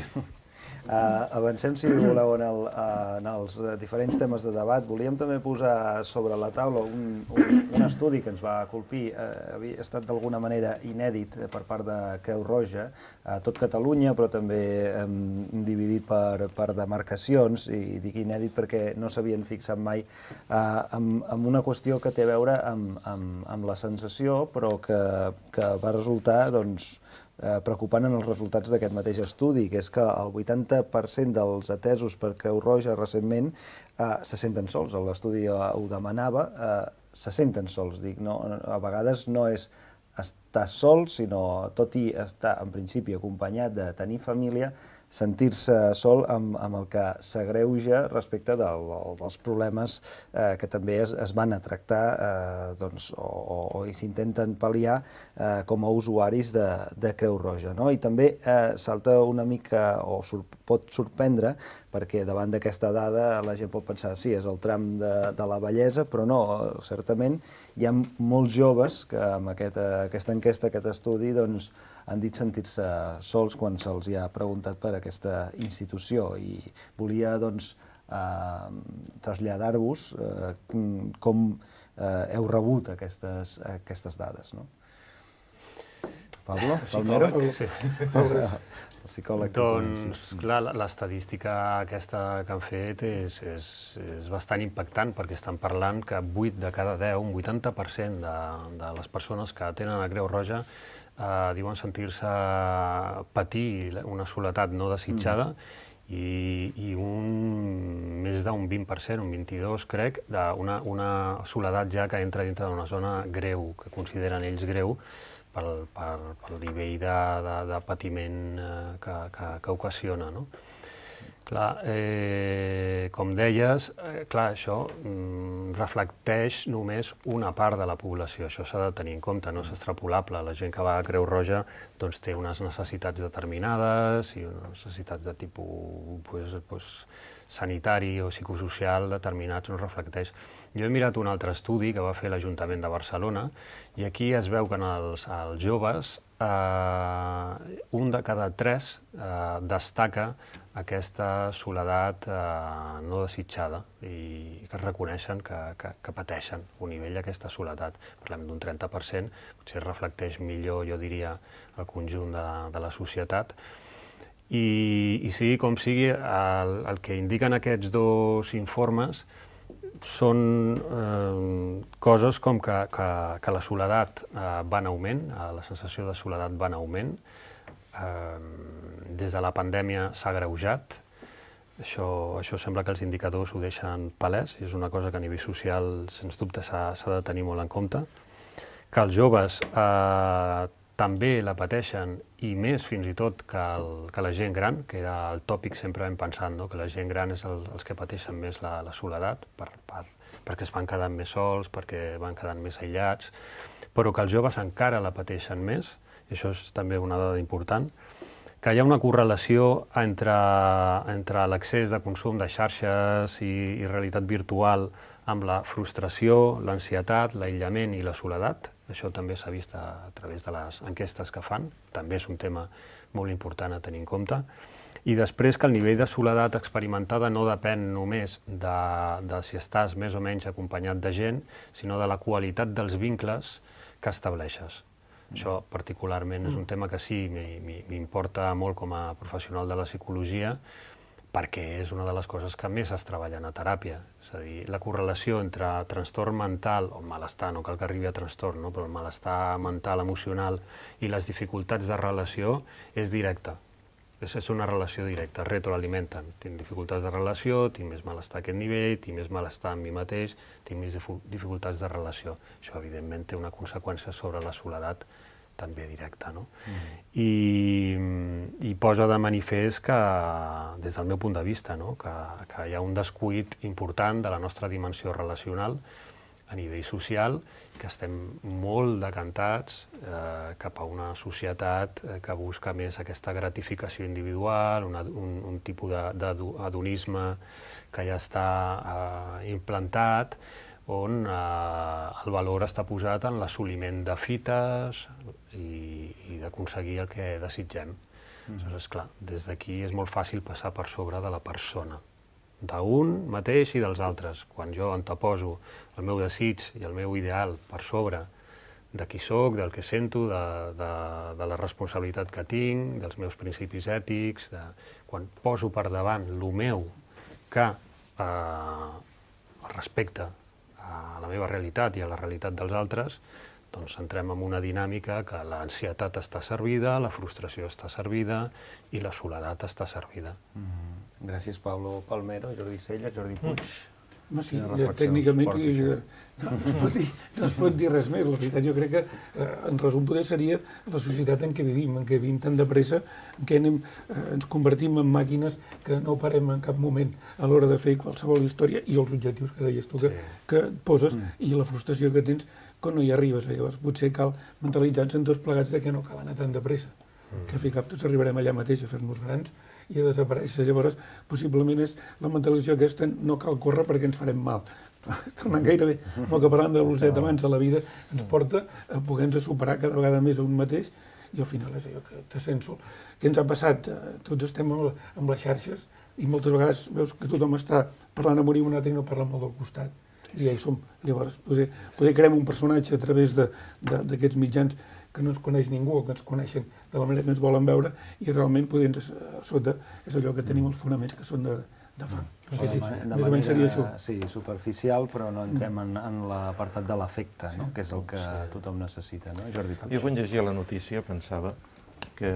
Uh, avancem, si voleu, en, el, uh, en els uh, diferents temes de debat. Volíem també posar sobre la taula un, un, un estudi que ens va colpir, uh, havia estat d'alguna manera inèdit per part de Creu Roja, a tot Catalunya, però també um, dividit per, per demarcacions, i dic inèdit perquè no s'havien fixat mai uh, amb, amb una qüestió que té a veure amb, amb, amb la sensació, però que, que va resultar, doncs, Eh, preocupant en els resultats d'aquest mateix estudi, que és que el vuitanta per cent dels atesos per Creu Roja recentment eh, se senten sols. L'estudi eh, ho demanava, eh, se senten sols. Dic, no, a vegades no és estar sol, sinó, tot i estar en principi acompanyat de tenir família, sentir-se sol amb, amb el que s'agreuja respecte del, dels problemes eh, que també es, es van a tractar eh, doncs, o, o, o s'intenten pal·liar eh, com a usuaris de, de Creu Roja. No? I també eh, salta una mica, o sur, pot sorprendre, perquè davant d'aquesta dada la gent pot pensar sí, és el tram de, de la bellesa, però no, certament hi ha molts joves que amb aquest, aquesta enquesta, aquest estudi, doncs, han dit sentir-se sols quan se'ls ha preguntat per aquesta institució, i volia doncs, eh, traslladar-vos eh, com eh, heu rebut aquestes, aquestes dades. No? Pablo? Palmero? Sí. El psicòleg. Doncs, clar, l'estadística aquesta que han fet és, és, és bastant impactant, perquè estan parlant que vuit de cada deu, un vuitanta per cent de, de les persones que tenen a Creu Roja eh, diuen sentir-se patir una soledat no desitjada, mm. i, i un, més d'un vint per cent, un vint-i-dos crec, d'una una soledat ja que entra dintre d'una zona greu, que consideren ells greu, pel, pel, pel nivell de, de, de patiment eh, que, que, que ocasiona. No? Clar, eh, com deies, eh, clar, això mm, reflecteix només una part de la població. Això s'ha de tenir en compte, no és extrapolable. La gent que va a Creu Roja doncs, té unes necessitats determinades i unes necessitats de tipus pues, pues, sanitari o psicosocial determinats, no reflecteix. Jo he mirat un altre estudi que va fer l'Ajuntament de Barcelona i aquí es veu que en els, els joves eh, un de cada tres eh, destaca aquesta soledat eh, no desitjada i que es reconeixen que, que, que pateixen un nivell d'aquesta soledat. Parlem d'un trenta per cent, potser reflecteix millor, jo diria, el conjunt de, de la societat. I, i sigui com sigui, el, el que indiquen aquests dos informes són eh, coses com que, que, que la soledat eh, va en augment, eh, la sensació de soledat va en augment, des de la pandèmia s'ha agreujat. Això, això sembla que els indicadors ho deixen palès, i és una cosa que a nivell social, sens dubte, s'ha de tenir molt en compte. Que els joves eh, també la pateixen, i més fins i tot que, el, que la gent gran, que era el tòpic sempre hem pensat, no? Que la gent gran és el, els que pateixen més la, la soledat, per, per, perquè es van quedant més sols, perquè van quedant més aïllats, però que els joves encara la pateixen més, i això és també una dada important, que hi ha una correlació entre, entre l'accés de consum de xarxes i, i realitat virtual amb la frustració, l'ansietat, l'aïllament i la soledat. Això també s'ha vist a, a través de les enquestes que fan, també és un tema molt important a tenir en compte. I després que el nivell de soledat experimentada no depèn només de, de si estàs més o menys acompanyat de gent, sinó de la qualitat dels vincles que estableixes. Això particularment és un tema que sí m'importa molt com a professional de la psicologia, perquè és una de les coses que més es treballen a teràpia. És a dir, la correlació entre trastorn mental, o malestar, no cal que arribi a trastorn, no? Però el malestar mental, emocional i les dificultats de relació és directa. És una relació directa, retroalimenten. Tinc dificultats de relació, tinc més malestar a aquest nivell, tinc més malestar amb mi mateix, tinc més dificultats de relació. Això, evidentment, té una conseqüència sobre la soledat també directa, no? Mm. I, i posa de manifest que, des del meu punt de vista, no? que, que hi ha un descuit important de la nostra dimensió relacional a nivell social, que estem molt decantats eh, cap a una societat eh, que busca més aquesta gratificació individual, una, un, un tipus d'adonisme que ja està eh, implantat, on eh, el valor està posat en l'assoliment de fites i, i d'aconseguir el que desitgem. Mm. Aleshores, clar, des d'aquí és molt fàcil passar per sobre de la persona, d'un mateix i dels altres. Quan jo anteposo el meu desig i el meu ideal per sobre de qui soc, del que sento, de, de, de la responsabilitat que tinc, dels meus principis ètics, de, quan poso per davant el meu que eh, respecte a la meva realitat i a la realitat dels altres, doncs entrem en una dinàmica que l'ansietat està servida, la frustració està servida i la soledat està servida. Mm. Gràcies, Pablo Palmero, Jordi Cella, Jordi Puig. No, sí, tècnicament no, no, es pot dir, no es pot dir res més. La veritat, jo crec que, eh, en resum, poder seria la societat en què vivim, en què vivim tan de pressa, en què anem, eh, ens convertim en màquines que no parem en cap moment a l'hora de fer qualsevol història i els objectius que deies tu que, que poses mm. i la frustració que tens quan no hi arribes. Llavors, potser cal mentalitzar-nos en tots plegats de que no cal anar tan de pressa, mm. que a fi cap tots arribarem allà mateix a fer-nos grans i a desaparèixer. Llavors, possiblement és la mentalització aquesta, no cal córrer perquè ens farem mal. Tornant gairebé, no que parlant de la velocitat abans de la vida, ens porta a poder-nos superar cada vegada més a un mateix i al final és allò que te sents sol. Què ens ha passat? Tots estem amb les xarxes i moltes vegades veus que tothom està parlant a morir un altre i no parla molt del costat. I ja hi som. Llavors, poder, poder creem un personatge a través d'aquests mitjans que no ens coneix ningú o que ens coneixen de la manera que ens volen veure i realment poder a sota és allò que tenim els fonaments que són de, de fang. No sé si més o menys seria això. Sí, superficial, però no entrem en, en l'apartat de l'afecte, no? Que és el que tothom necessita, no? Jordi Puig. Jo quan llegia la notícia pensava que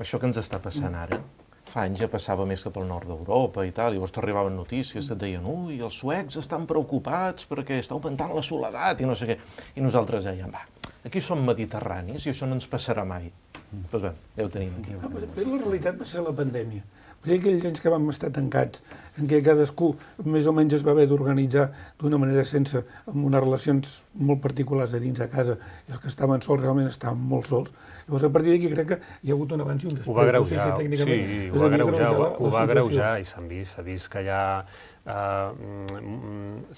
això que ens està passant ara, fa anys ja passava més cap al nord d'Europa i tal, i llavors t'arribaven notícies, et deien ui, els suecs estan preocupats perquè està augmentant la soledat i no sé què. I nosaltres dèiem, va, Aquí som mediterranis i això no ens passarà mai. Doncs bé, ja ho tenim aquí. Ah, però la realitat va ser la pandèmia. Perquè aquells anys que vam estar tancats, en què cadascú més o menys es va haver d'organitzar d'una manera sense, amb unes relacions molt particulars a dins a casa, i els que estaven sols realment estaven molt sols. Llavors, a partir d'aquí crec que hi ha hagut un abans i un després. Ho va greujar, sí, ho va greujar, ho va greujar i s'ha vist, s'ha vist que ja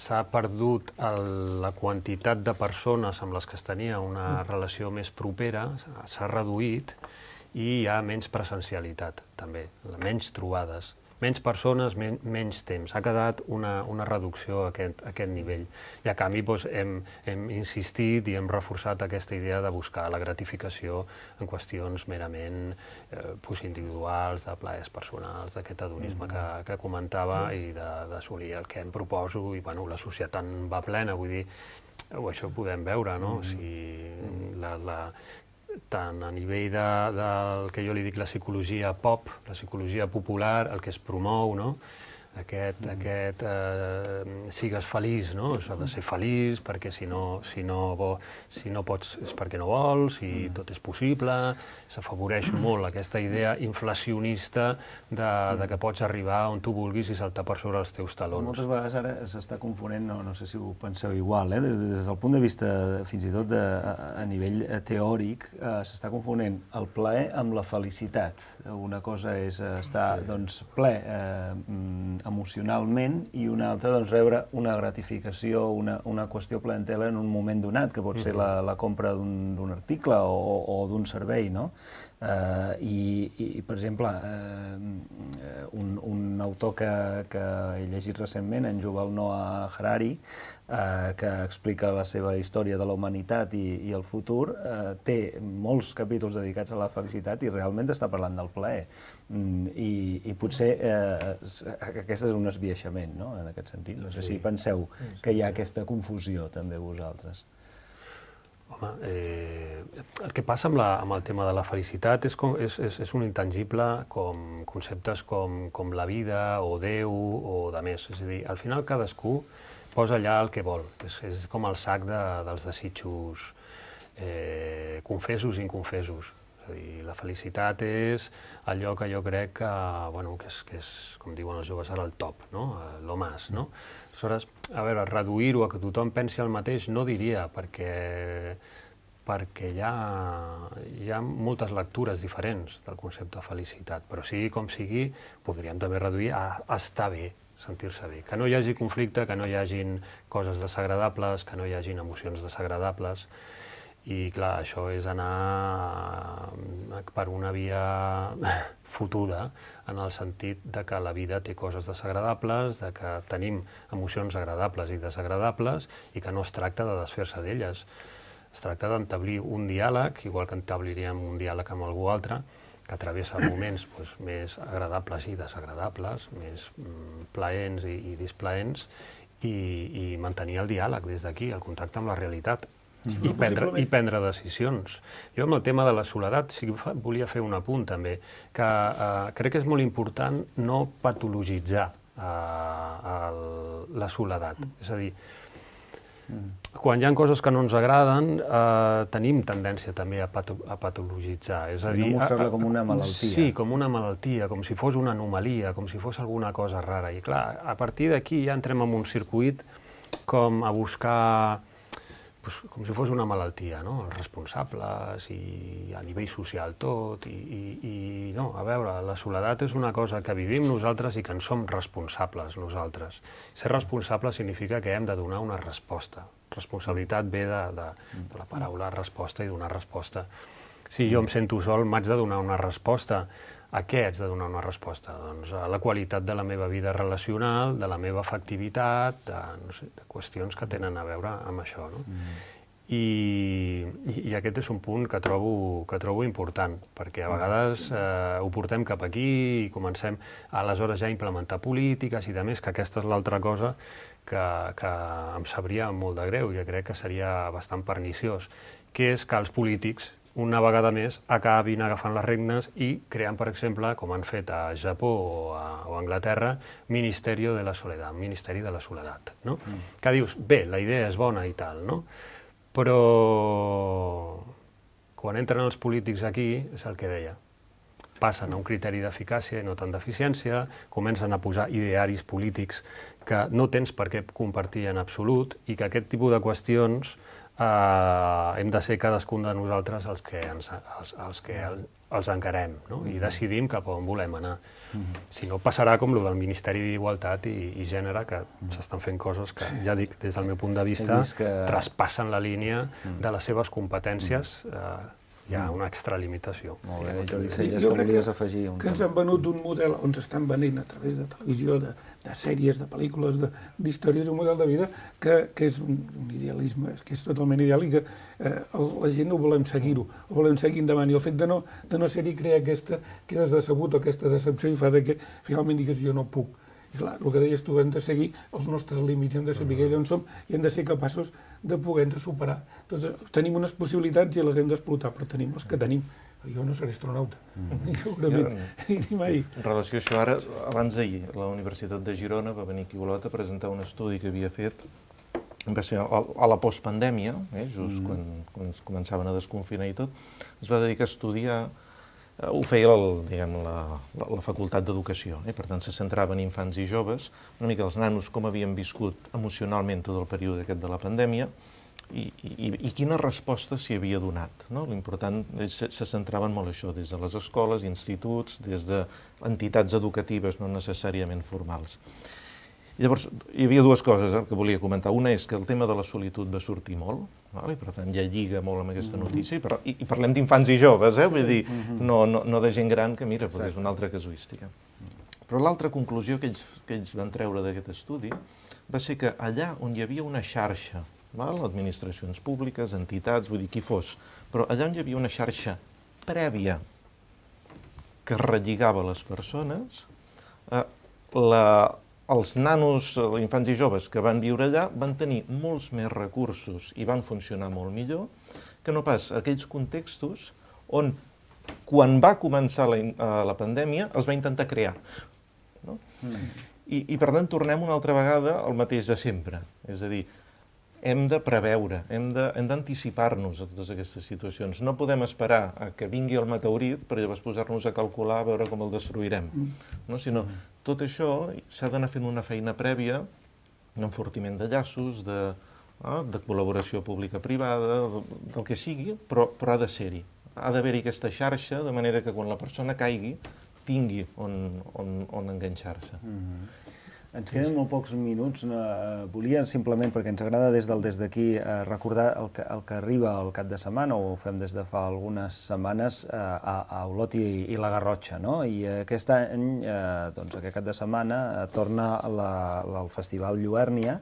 s'ha perdut la quantitat de persones amb les que es tenia una relació més propera, s'ha reduït, i hi ha menys presencialitat, també, menys trobades, menys persones, menys temps. Ha quedat una reducció a aquest nivell. I a canvi hem insistit i hem reforçat aquesta idea de buscar la gratificació en qüestions merament individuals, de plaers personals, d'aquest hedonisme que comentava i d'assolir el que em proposo. I la societat en va plena, vull dir, això ho podem veure, no? Tant a nivell del que jo li dic la psicologia pop, la psicologia popular, el que es promou, no? Aquest, aquest, sigues feliç, no? S'ha de ser feliç perquè si no, si no pots és perquè no vols, i tot és possible. S'afavoreix molt aquesta idea inflacionista de que pots arribar on tu vulguis i saltar per sobre els teus talons. Moltes vegades ara s'està confonent, no sé si ho penseu igual, des del punt de vista fins i tot a nivell teòric, s'està confonent el plaer amb la felicitat. Una cosa és estar ple emocionalment i una altra rebre una gratificació, una qüestió plaentela en un moment donat, que pot ser la compra d'un article o d'un servei, no? I, per exemple, un autor que he llegit recentment, en Yuval Noah Harari, que explica la seva història de la humanitat i el futur, té molts capítols dedicats a la felicitat i realment està parlant del plaer. I potser aquest és un esbiaixament, no?, en aquest sentit. No sé si penseu que hi ha aquesta confusió també vosaltres. Home, el que passa amb el tema de la felicitat és un intangible com conceptes com la vida o Déu o de més. És a dir, al final cadascú posa allà el que vol. És com el sac dels desitjos confessos i inconfessos. És a dir, la felicitat és allò que jo crec que és, com diuen els joves ara, el top, lo más, no? Aleshores, a veure, reduir-ho a que tothom pensi el mateix no diria, perquè perquè hi ha moltes lectures diferents del concepte de felicitat, però sigui com sigui, podríem també reduir a estar bé, sentir-se bé, que no hi hagi conflicte, que no hi hagin coses desagradables, que no hi hagin emocions desagradables. I, clar, això és anar per una via fotuda, en el sentit que la vida té coses desagradables, que tenim emocions agradables i desagradables i que no es tracta de desfer-se d'elles. Es tracta d'entablir un diàleg, igual que entabliríem un diàleg amb algú altre, que travessa moments més agradables i desagradables, més plaents i displaents, i mantenir el diàleg des d'aquí, el contacte amb la realitat. I prendre decisions. Jo amb el tema de la soledat volia fer un apunt també, que crec que és molt important no patologitzar la soledat. És a dir, quan hi ha coses que no ens agraden, tenim tendència també a patologitzar. No mostrar-la com una malaltia. Sí, com una malaltia, com si fos una anomalia, com si fos alguna cosa rara. I clar, a partir d'aquí ja entrem en un circuit com a buscar com si fos una malaltia, no? Els responsables i a nivell social tot, i no, a veure, la soledat és una cosa que vivim nosaltres i que en som responsables nosaltres. Ser responsable significa que hem de donar una resposta. Responsabilitat ve de la paraula resposta i donar resposta. Si jo em sento sol, m'haig de donar una resposta. A què haig de donar una resposta? Doncs a la qualitat de la meva vida relacional, de la meva afectivitat, de qüestions que tenen a veure amb això. I aquest és un punt que trobo important, perquè a vegades ho portem cap aquí i comencem aleshores ja a implementar polítiques i de més, que aquesta és l'altra cosa que em sabria molt de greu i que crec que seria bastant perniciós, que és que els polítics una vegada més acabin agafant les regnes i creant, per exemple, com han fet a Japó o a Anglaterra, Ministeri de la Soledat, Ministeri de la Soledat. Que dius, bé, la idea és bona i tal, però quan entren els polítics aquí, és el que deia, passen a un criteri d'eficàcia i no tant d'eficiència, comencen a posar idearis polítics que no tens per què compartir en absolut i que aquest tipus de qüestions eh, hem de ser cadascun de nosaltres els que, ens, els, els, que els, els encarem, no? I decidim cap a on volem anar. Si no, passarà com el del Ministeri d'Igualtat i, i Gènere, que s'estan fent coses que, ja dic, des del meu punt de vista, que... traspassen la línia de les seves competències. Eh, hi ha una extralimitació. Molt bé, Jordi Celles, que volies afegir? Que ens han venut un model on s'estan venent a través de televisió, de, de sèries, de pel·lícules, d'històries, un model de vida que, que és un, un idealisme, que és totalment ideal i que eh, la gent no volem seguir-ho, ho volem seguir endavant. I el fet de no, de no ser-hi crea aquesta, quedes decebut o aquesta decepció i fa de que finalment digues jo no puc. I clar, el que deies tu, hem de seguir els nostres límits, hem de saber on som i hem de ser capaços de poder-nos superar. Doncs tenim unes possibilitats i les hem d'explotar, però tenim les que tenim. Jo no seré astronauta, ni segurament, ni mai. En relació a això, ara, abans d'ahir, la Universitat de Girona va venir aquí a Olot a presentar un estudi que havia fet, va ser a la postpandèmia, eh, just quan, quan es començaven a desconfinar i tot, es va dedicar a estudiar. Ho feia el, diguem, la, la, la Facultat d'Educació, eh? Per tant, se centrava en infants i joves, una mica els nanos com havien viscut emocionalment tot el període aquest de la pandèmia i, i, i quina resposta s'hi havia donat. No? L'important se, se centraven molt això, des de les escoles, instituts, des d'entitats educatives no necessàriament formals. I llavors, hi havia dues coses eh, que volia comentar. Una és que el tema de la solitud va sortir molt, val? I per tant ja lliga molt amb aquesta notícia, i, per, i, i parlem d'infants i joves, eh? Vull dir, no, no, no de gent gran que mira, perquè és una altra casuística. Però l'altra conclusió que ells, que ells van treure d'aquest estudi va ser que allà on hi havia una xarxa, val? Administracions públiques, entitats, vull dir, qui fos, però allà on hi havia una xarxa prèvia que relligava les persones, eh, la... els nanos, infants i joves que van viure allà van tenir molts més recursos i van funcionar molt millor que no pas aquells contextos on, quan va començar la, la pandèmia, els va intentar crear. No? Mm. I, I, per tant, tornem una altra vegada al mateix de sempre. És a dir, hem de preveure, hem d'anticipar-nos a totes aquestes situacions. No podem esperar a que vingui el meteorit per llavors posar-nos a calcular a veure com el destruirem. No? Sinó, tot això s'ha d'anar fent una feina prèvia, un enfortiment de llaços, de, eh, de col·laboració pública-privada, del que sigui, però, però ha de ser-hi. Ha d'haver-hi aquesta xarxa, de manera que quan la persona caigui, tingui on, on, on enganxar-se. Mm-hmm. Ens queden molt pocs minuts. Volia simplement, perquè ens agrada des del des d'aquí, recordar el que, el que arriba al cap de setmana, o ho fem des de fa algunes setmanes, a, a Olot i, i la Garrotxa, no? I aquest any, doncs aquest cap de setmana, torna la, la, el Festival Lluèrnia,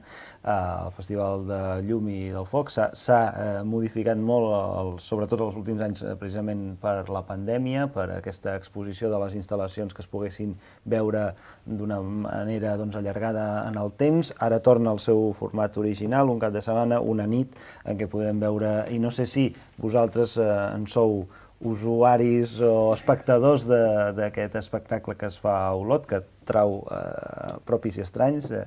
el Festival de Llum i del Foc. S'ha modificat molt, el, sobretot els últims anys, precisament per la pandèmia, per aquesta exposició de les instal·lacions que es poguessin veure d'una manera, doncs, allargada en el temps. Ara torna al seu format original, un cap de setmana, una nit, en què podrem veure, i no sé si vosaltres eh, en sou usuaris o espectadors d'aquest espectacle que es fa a Olot, que trau eh, propis i estranys eh,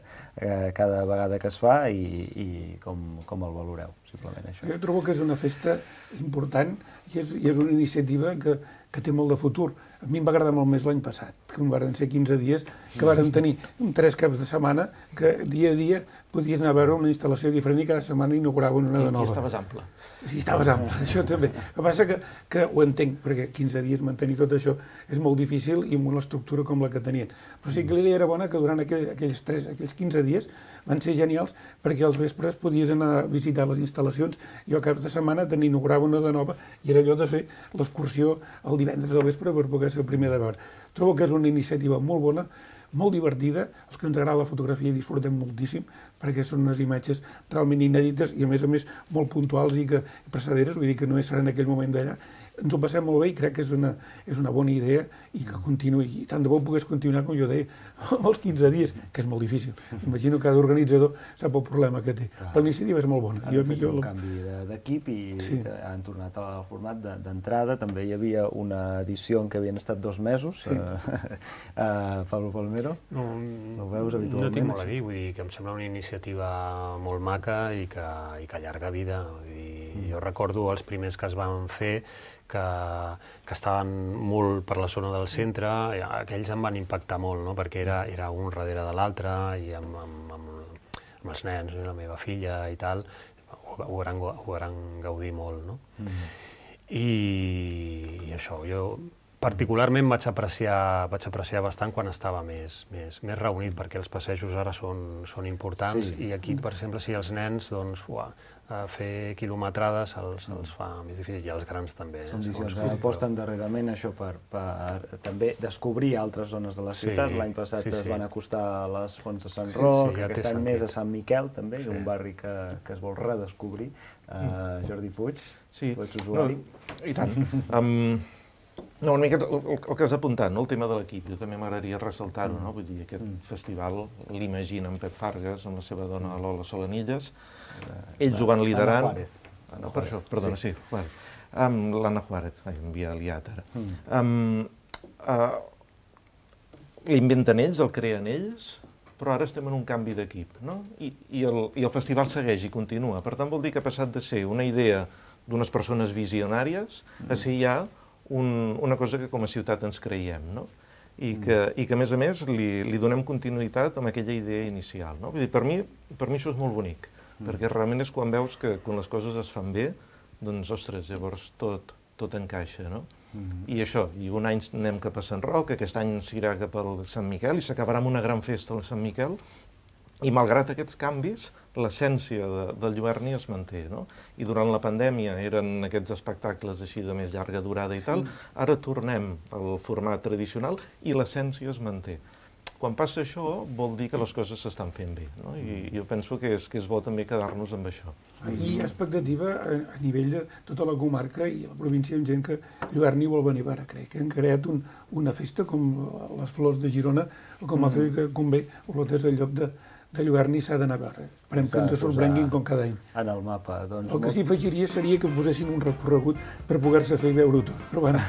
cada vegada que es fa, i, i com, com el valoreu, simplement això. Jo trobo que és una festa important i és, i és una iniciativa que, que té molt de futur. A mi em va agradar molt més l'any passat, que van ser quinze dies, que vàrem tenir tres caps de setmana, que dia a dia podies anar a veure una instal·lació diferent i cada setmana inauguraven una de nova. I estaves ample. Sí, estaves ample, això també. El que passa que, que ho entenc, perquè quinze dies mantenir tot això és molt difícil i amb una estructura com la que tenien. Però sí que l'idea era bona, que durant aquell, aquells, tres, aquells quinze dies van ser genials, perquè als vespres podies anar a visitar les instal·lacions i al cap de setmana te n'inaugurava una de nova i era allò de fer l'excursió el divendres al vespre per poder ser el primer de veure. Trobo que és una iniciativa molt bona, molt divertida, els que ens agrada la fotografia i disfrutem moltíssim, perquè són unes imatges realment inèdites i a més a més molt puntuals i, que, i precederes, vull dir que no és en aquell moment d'allà. Ens ho passem molt bé i crec que és una, és una bona idea i que continuï. I tant de bo pogués continuar, com jo deia, amb els quinze dies, que és molt difícil. Imagino que cada organitzador sap el problema que té. La iniciativa és molt bona. Han jo, fet millor... un canvi d'equip i sí. Han tornat al format d'entrada. També hi havia una edició en què havien estat dos mesos. Sí. Uh, Pablo Palmero, no, ho veus habitualment? No tinc molt a dir, vull dir que em sembla una iniciativa molt maca i que, i que allarga vida. Vull dir, I jo recordo els primers que es van fer, que, que estaven molt per la zona del centre, aquells em van impactar molt, no? Perquè era, era un darrere de l'altre, i amb, amb, amb, amb els nens, la meva filla i tal, ho, ho, varen, ho varen gaudir molt, no? Mm. I, I això, jo particularment vaig apreciar, vaig apreciar bastant quan estava més, més, més reunit, perquè els passejos ara són, són importants, sí. I aquí, per exemple, si els nens, doncs, uah, fer quilometrades se'ls se fa més difícil, i els grans també. Són visions que aposten darrerament això per, per també descobrir altres zones de la ciutat. Sí, L'any passat sí, sí. es van acostar a les fonts de Sant sí, Roc, sí, ja aquest any sentit. Més a Sant Miquel també, sí. Un barri que, que es vol redescobrir. Uh, Jordi Puig, sí. Tu ets usuari. No, I tant. um, No, una miqueta el, el que has apuntat, no? El tema de l'equip, jo també m'agradaria ressaltar-ho, no? Vull dir, aquest mm. festival l'imagina en Pep Fargas, amb la seva dona Lola Solanillas, ells ho van liderant... Anna Juárez. No, per això, perdona, sí. sí bueno, amb l'Anna Juárez, ai, m'havia liat ara. Mm. Um, uh, L'inventen ells, el creen ells, però ara estem en un canvi d'equip, no? I, i, el, I el festival segueix i continua. Per tant, vol dir que ha passat de ser una idea d'unes persones visionàries a ser ja Un, una cosa que com a ciutat ens creiem, no? I que, i que a més a més, li, li donem continuïtat amb aquella idea inicial, no? Vull dir, per mi, per mi això és molt bonic, mm. perquè realment és quan veus que quan les coses es fan bé, doncs, ostres, llavors tot, tot encaixa, no? Mm. I això, i un any anem cap a Sant Roc, aquest any s'irà cap al Sant Miquel, i s'acabarà amb una gran festa al Sant Miquel, i malgrat aquests canvis, l'essència de, del Lluerni es manté, no? I durant la pandèmia eren aquests espectacles així de més llarga durada i tal, ara tornem al format tradicional i l'essència es manté. Quan passa això, vol dir que les coses s'estan fent bé, no? I jo penso que és, que és bo també quedar-nos amb això. I expectativa a, a nivell de tota la comarca i la província amb gent que Lluerni vol venir a veure. Crec que han creat un, una festa com les Flors de Girona o com altres que convé, Olotes al lloc de de Lluerni s'ha d'anar a veure. Esperem que ens sorprenguin com cada any. En el mapa, doncs... El que s'hi afegiria seria que posessin un recorregut per poder-se fer i veure-ho tot. Però bueno,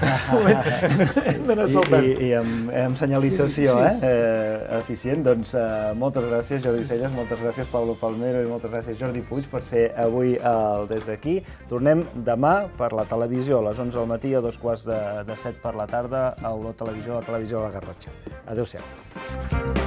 hem d'anar saltant. I, i, i amb, amb senyalització, sí, sí, sí. Eh? eh? Eficient. Doncs uh, moltes gràcies, Jordi Celles, moltes gràcies, Pablo Palmero, i moltes gràcies, Jordi Puig, per ser avui al Des d'aquí. Tornem demà per la televisió, a les onze del matí, a dos quarts de, de set per la tarda, a Olor Televisió, a la televisió de la Garrotxa. Adéu-siau.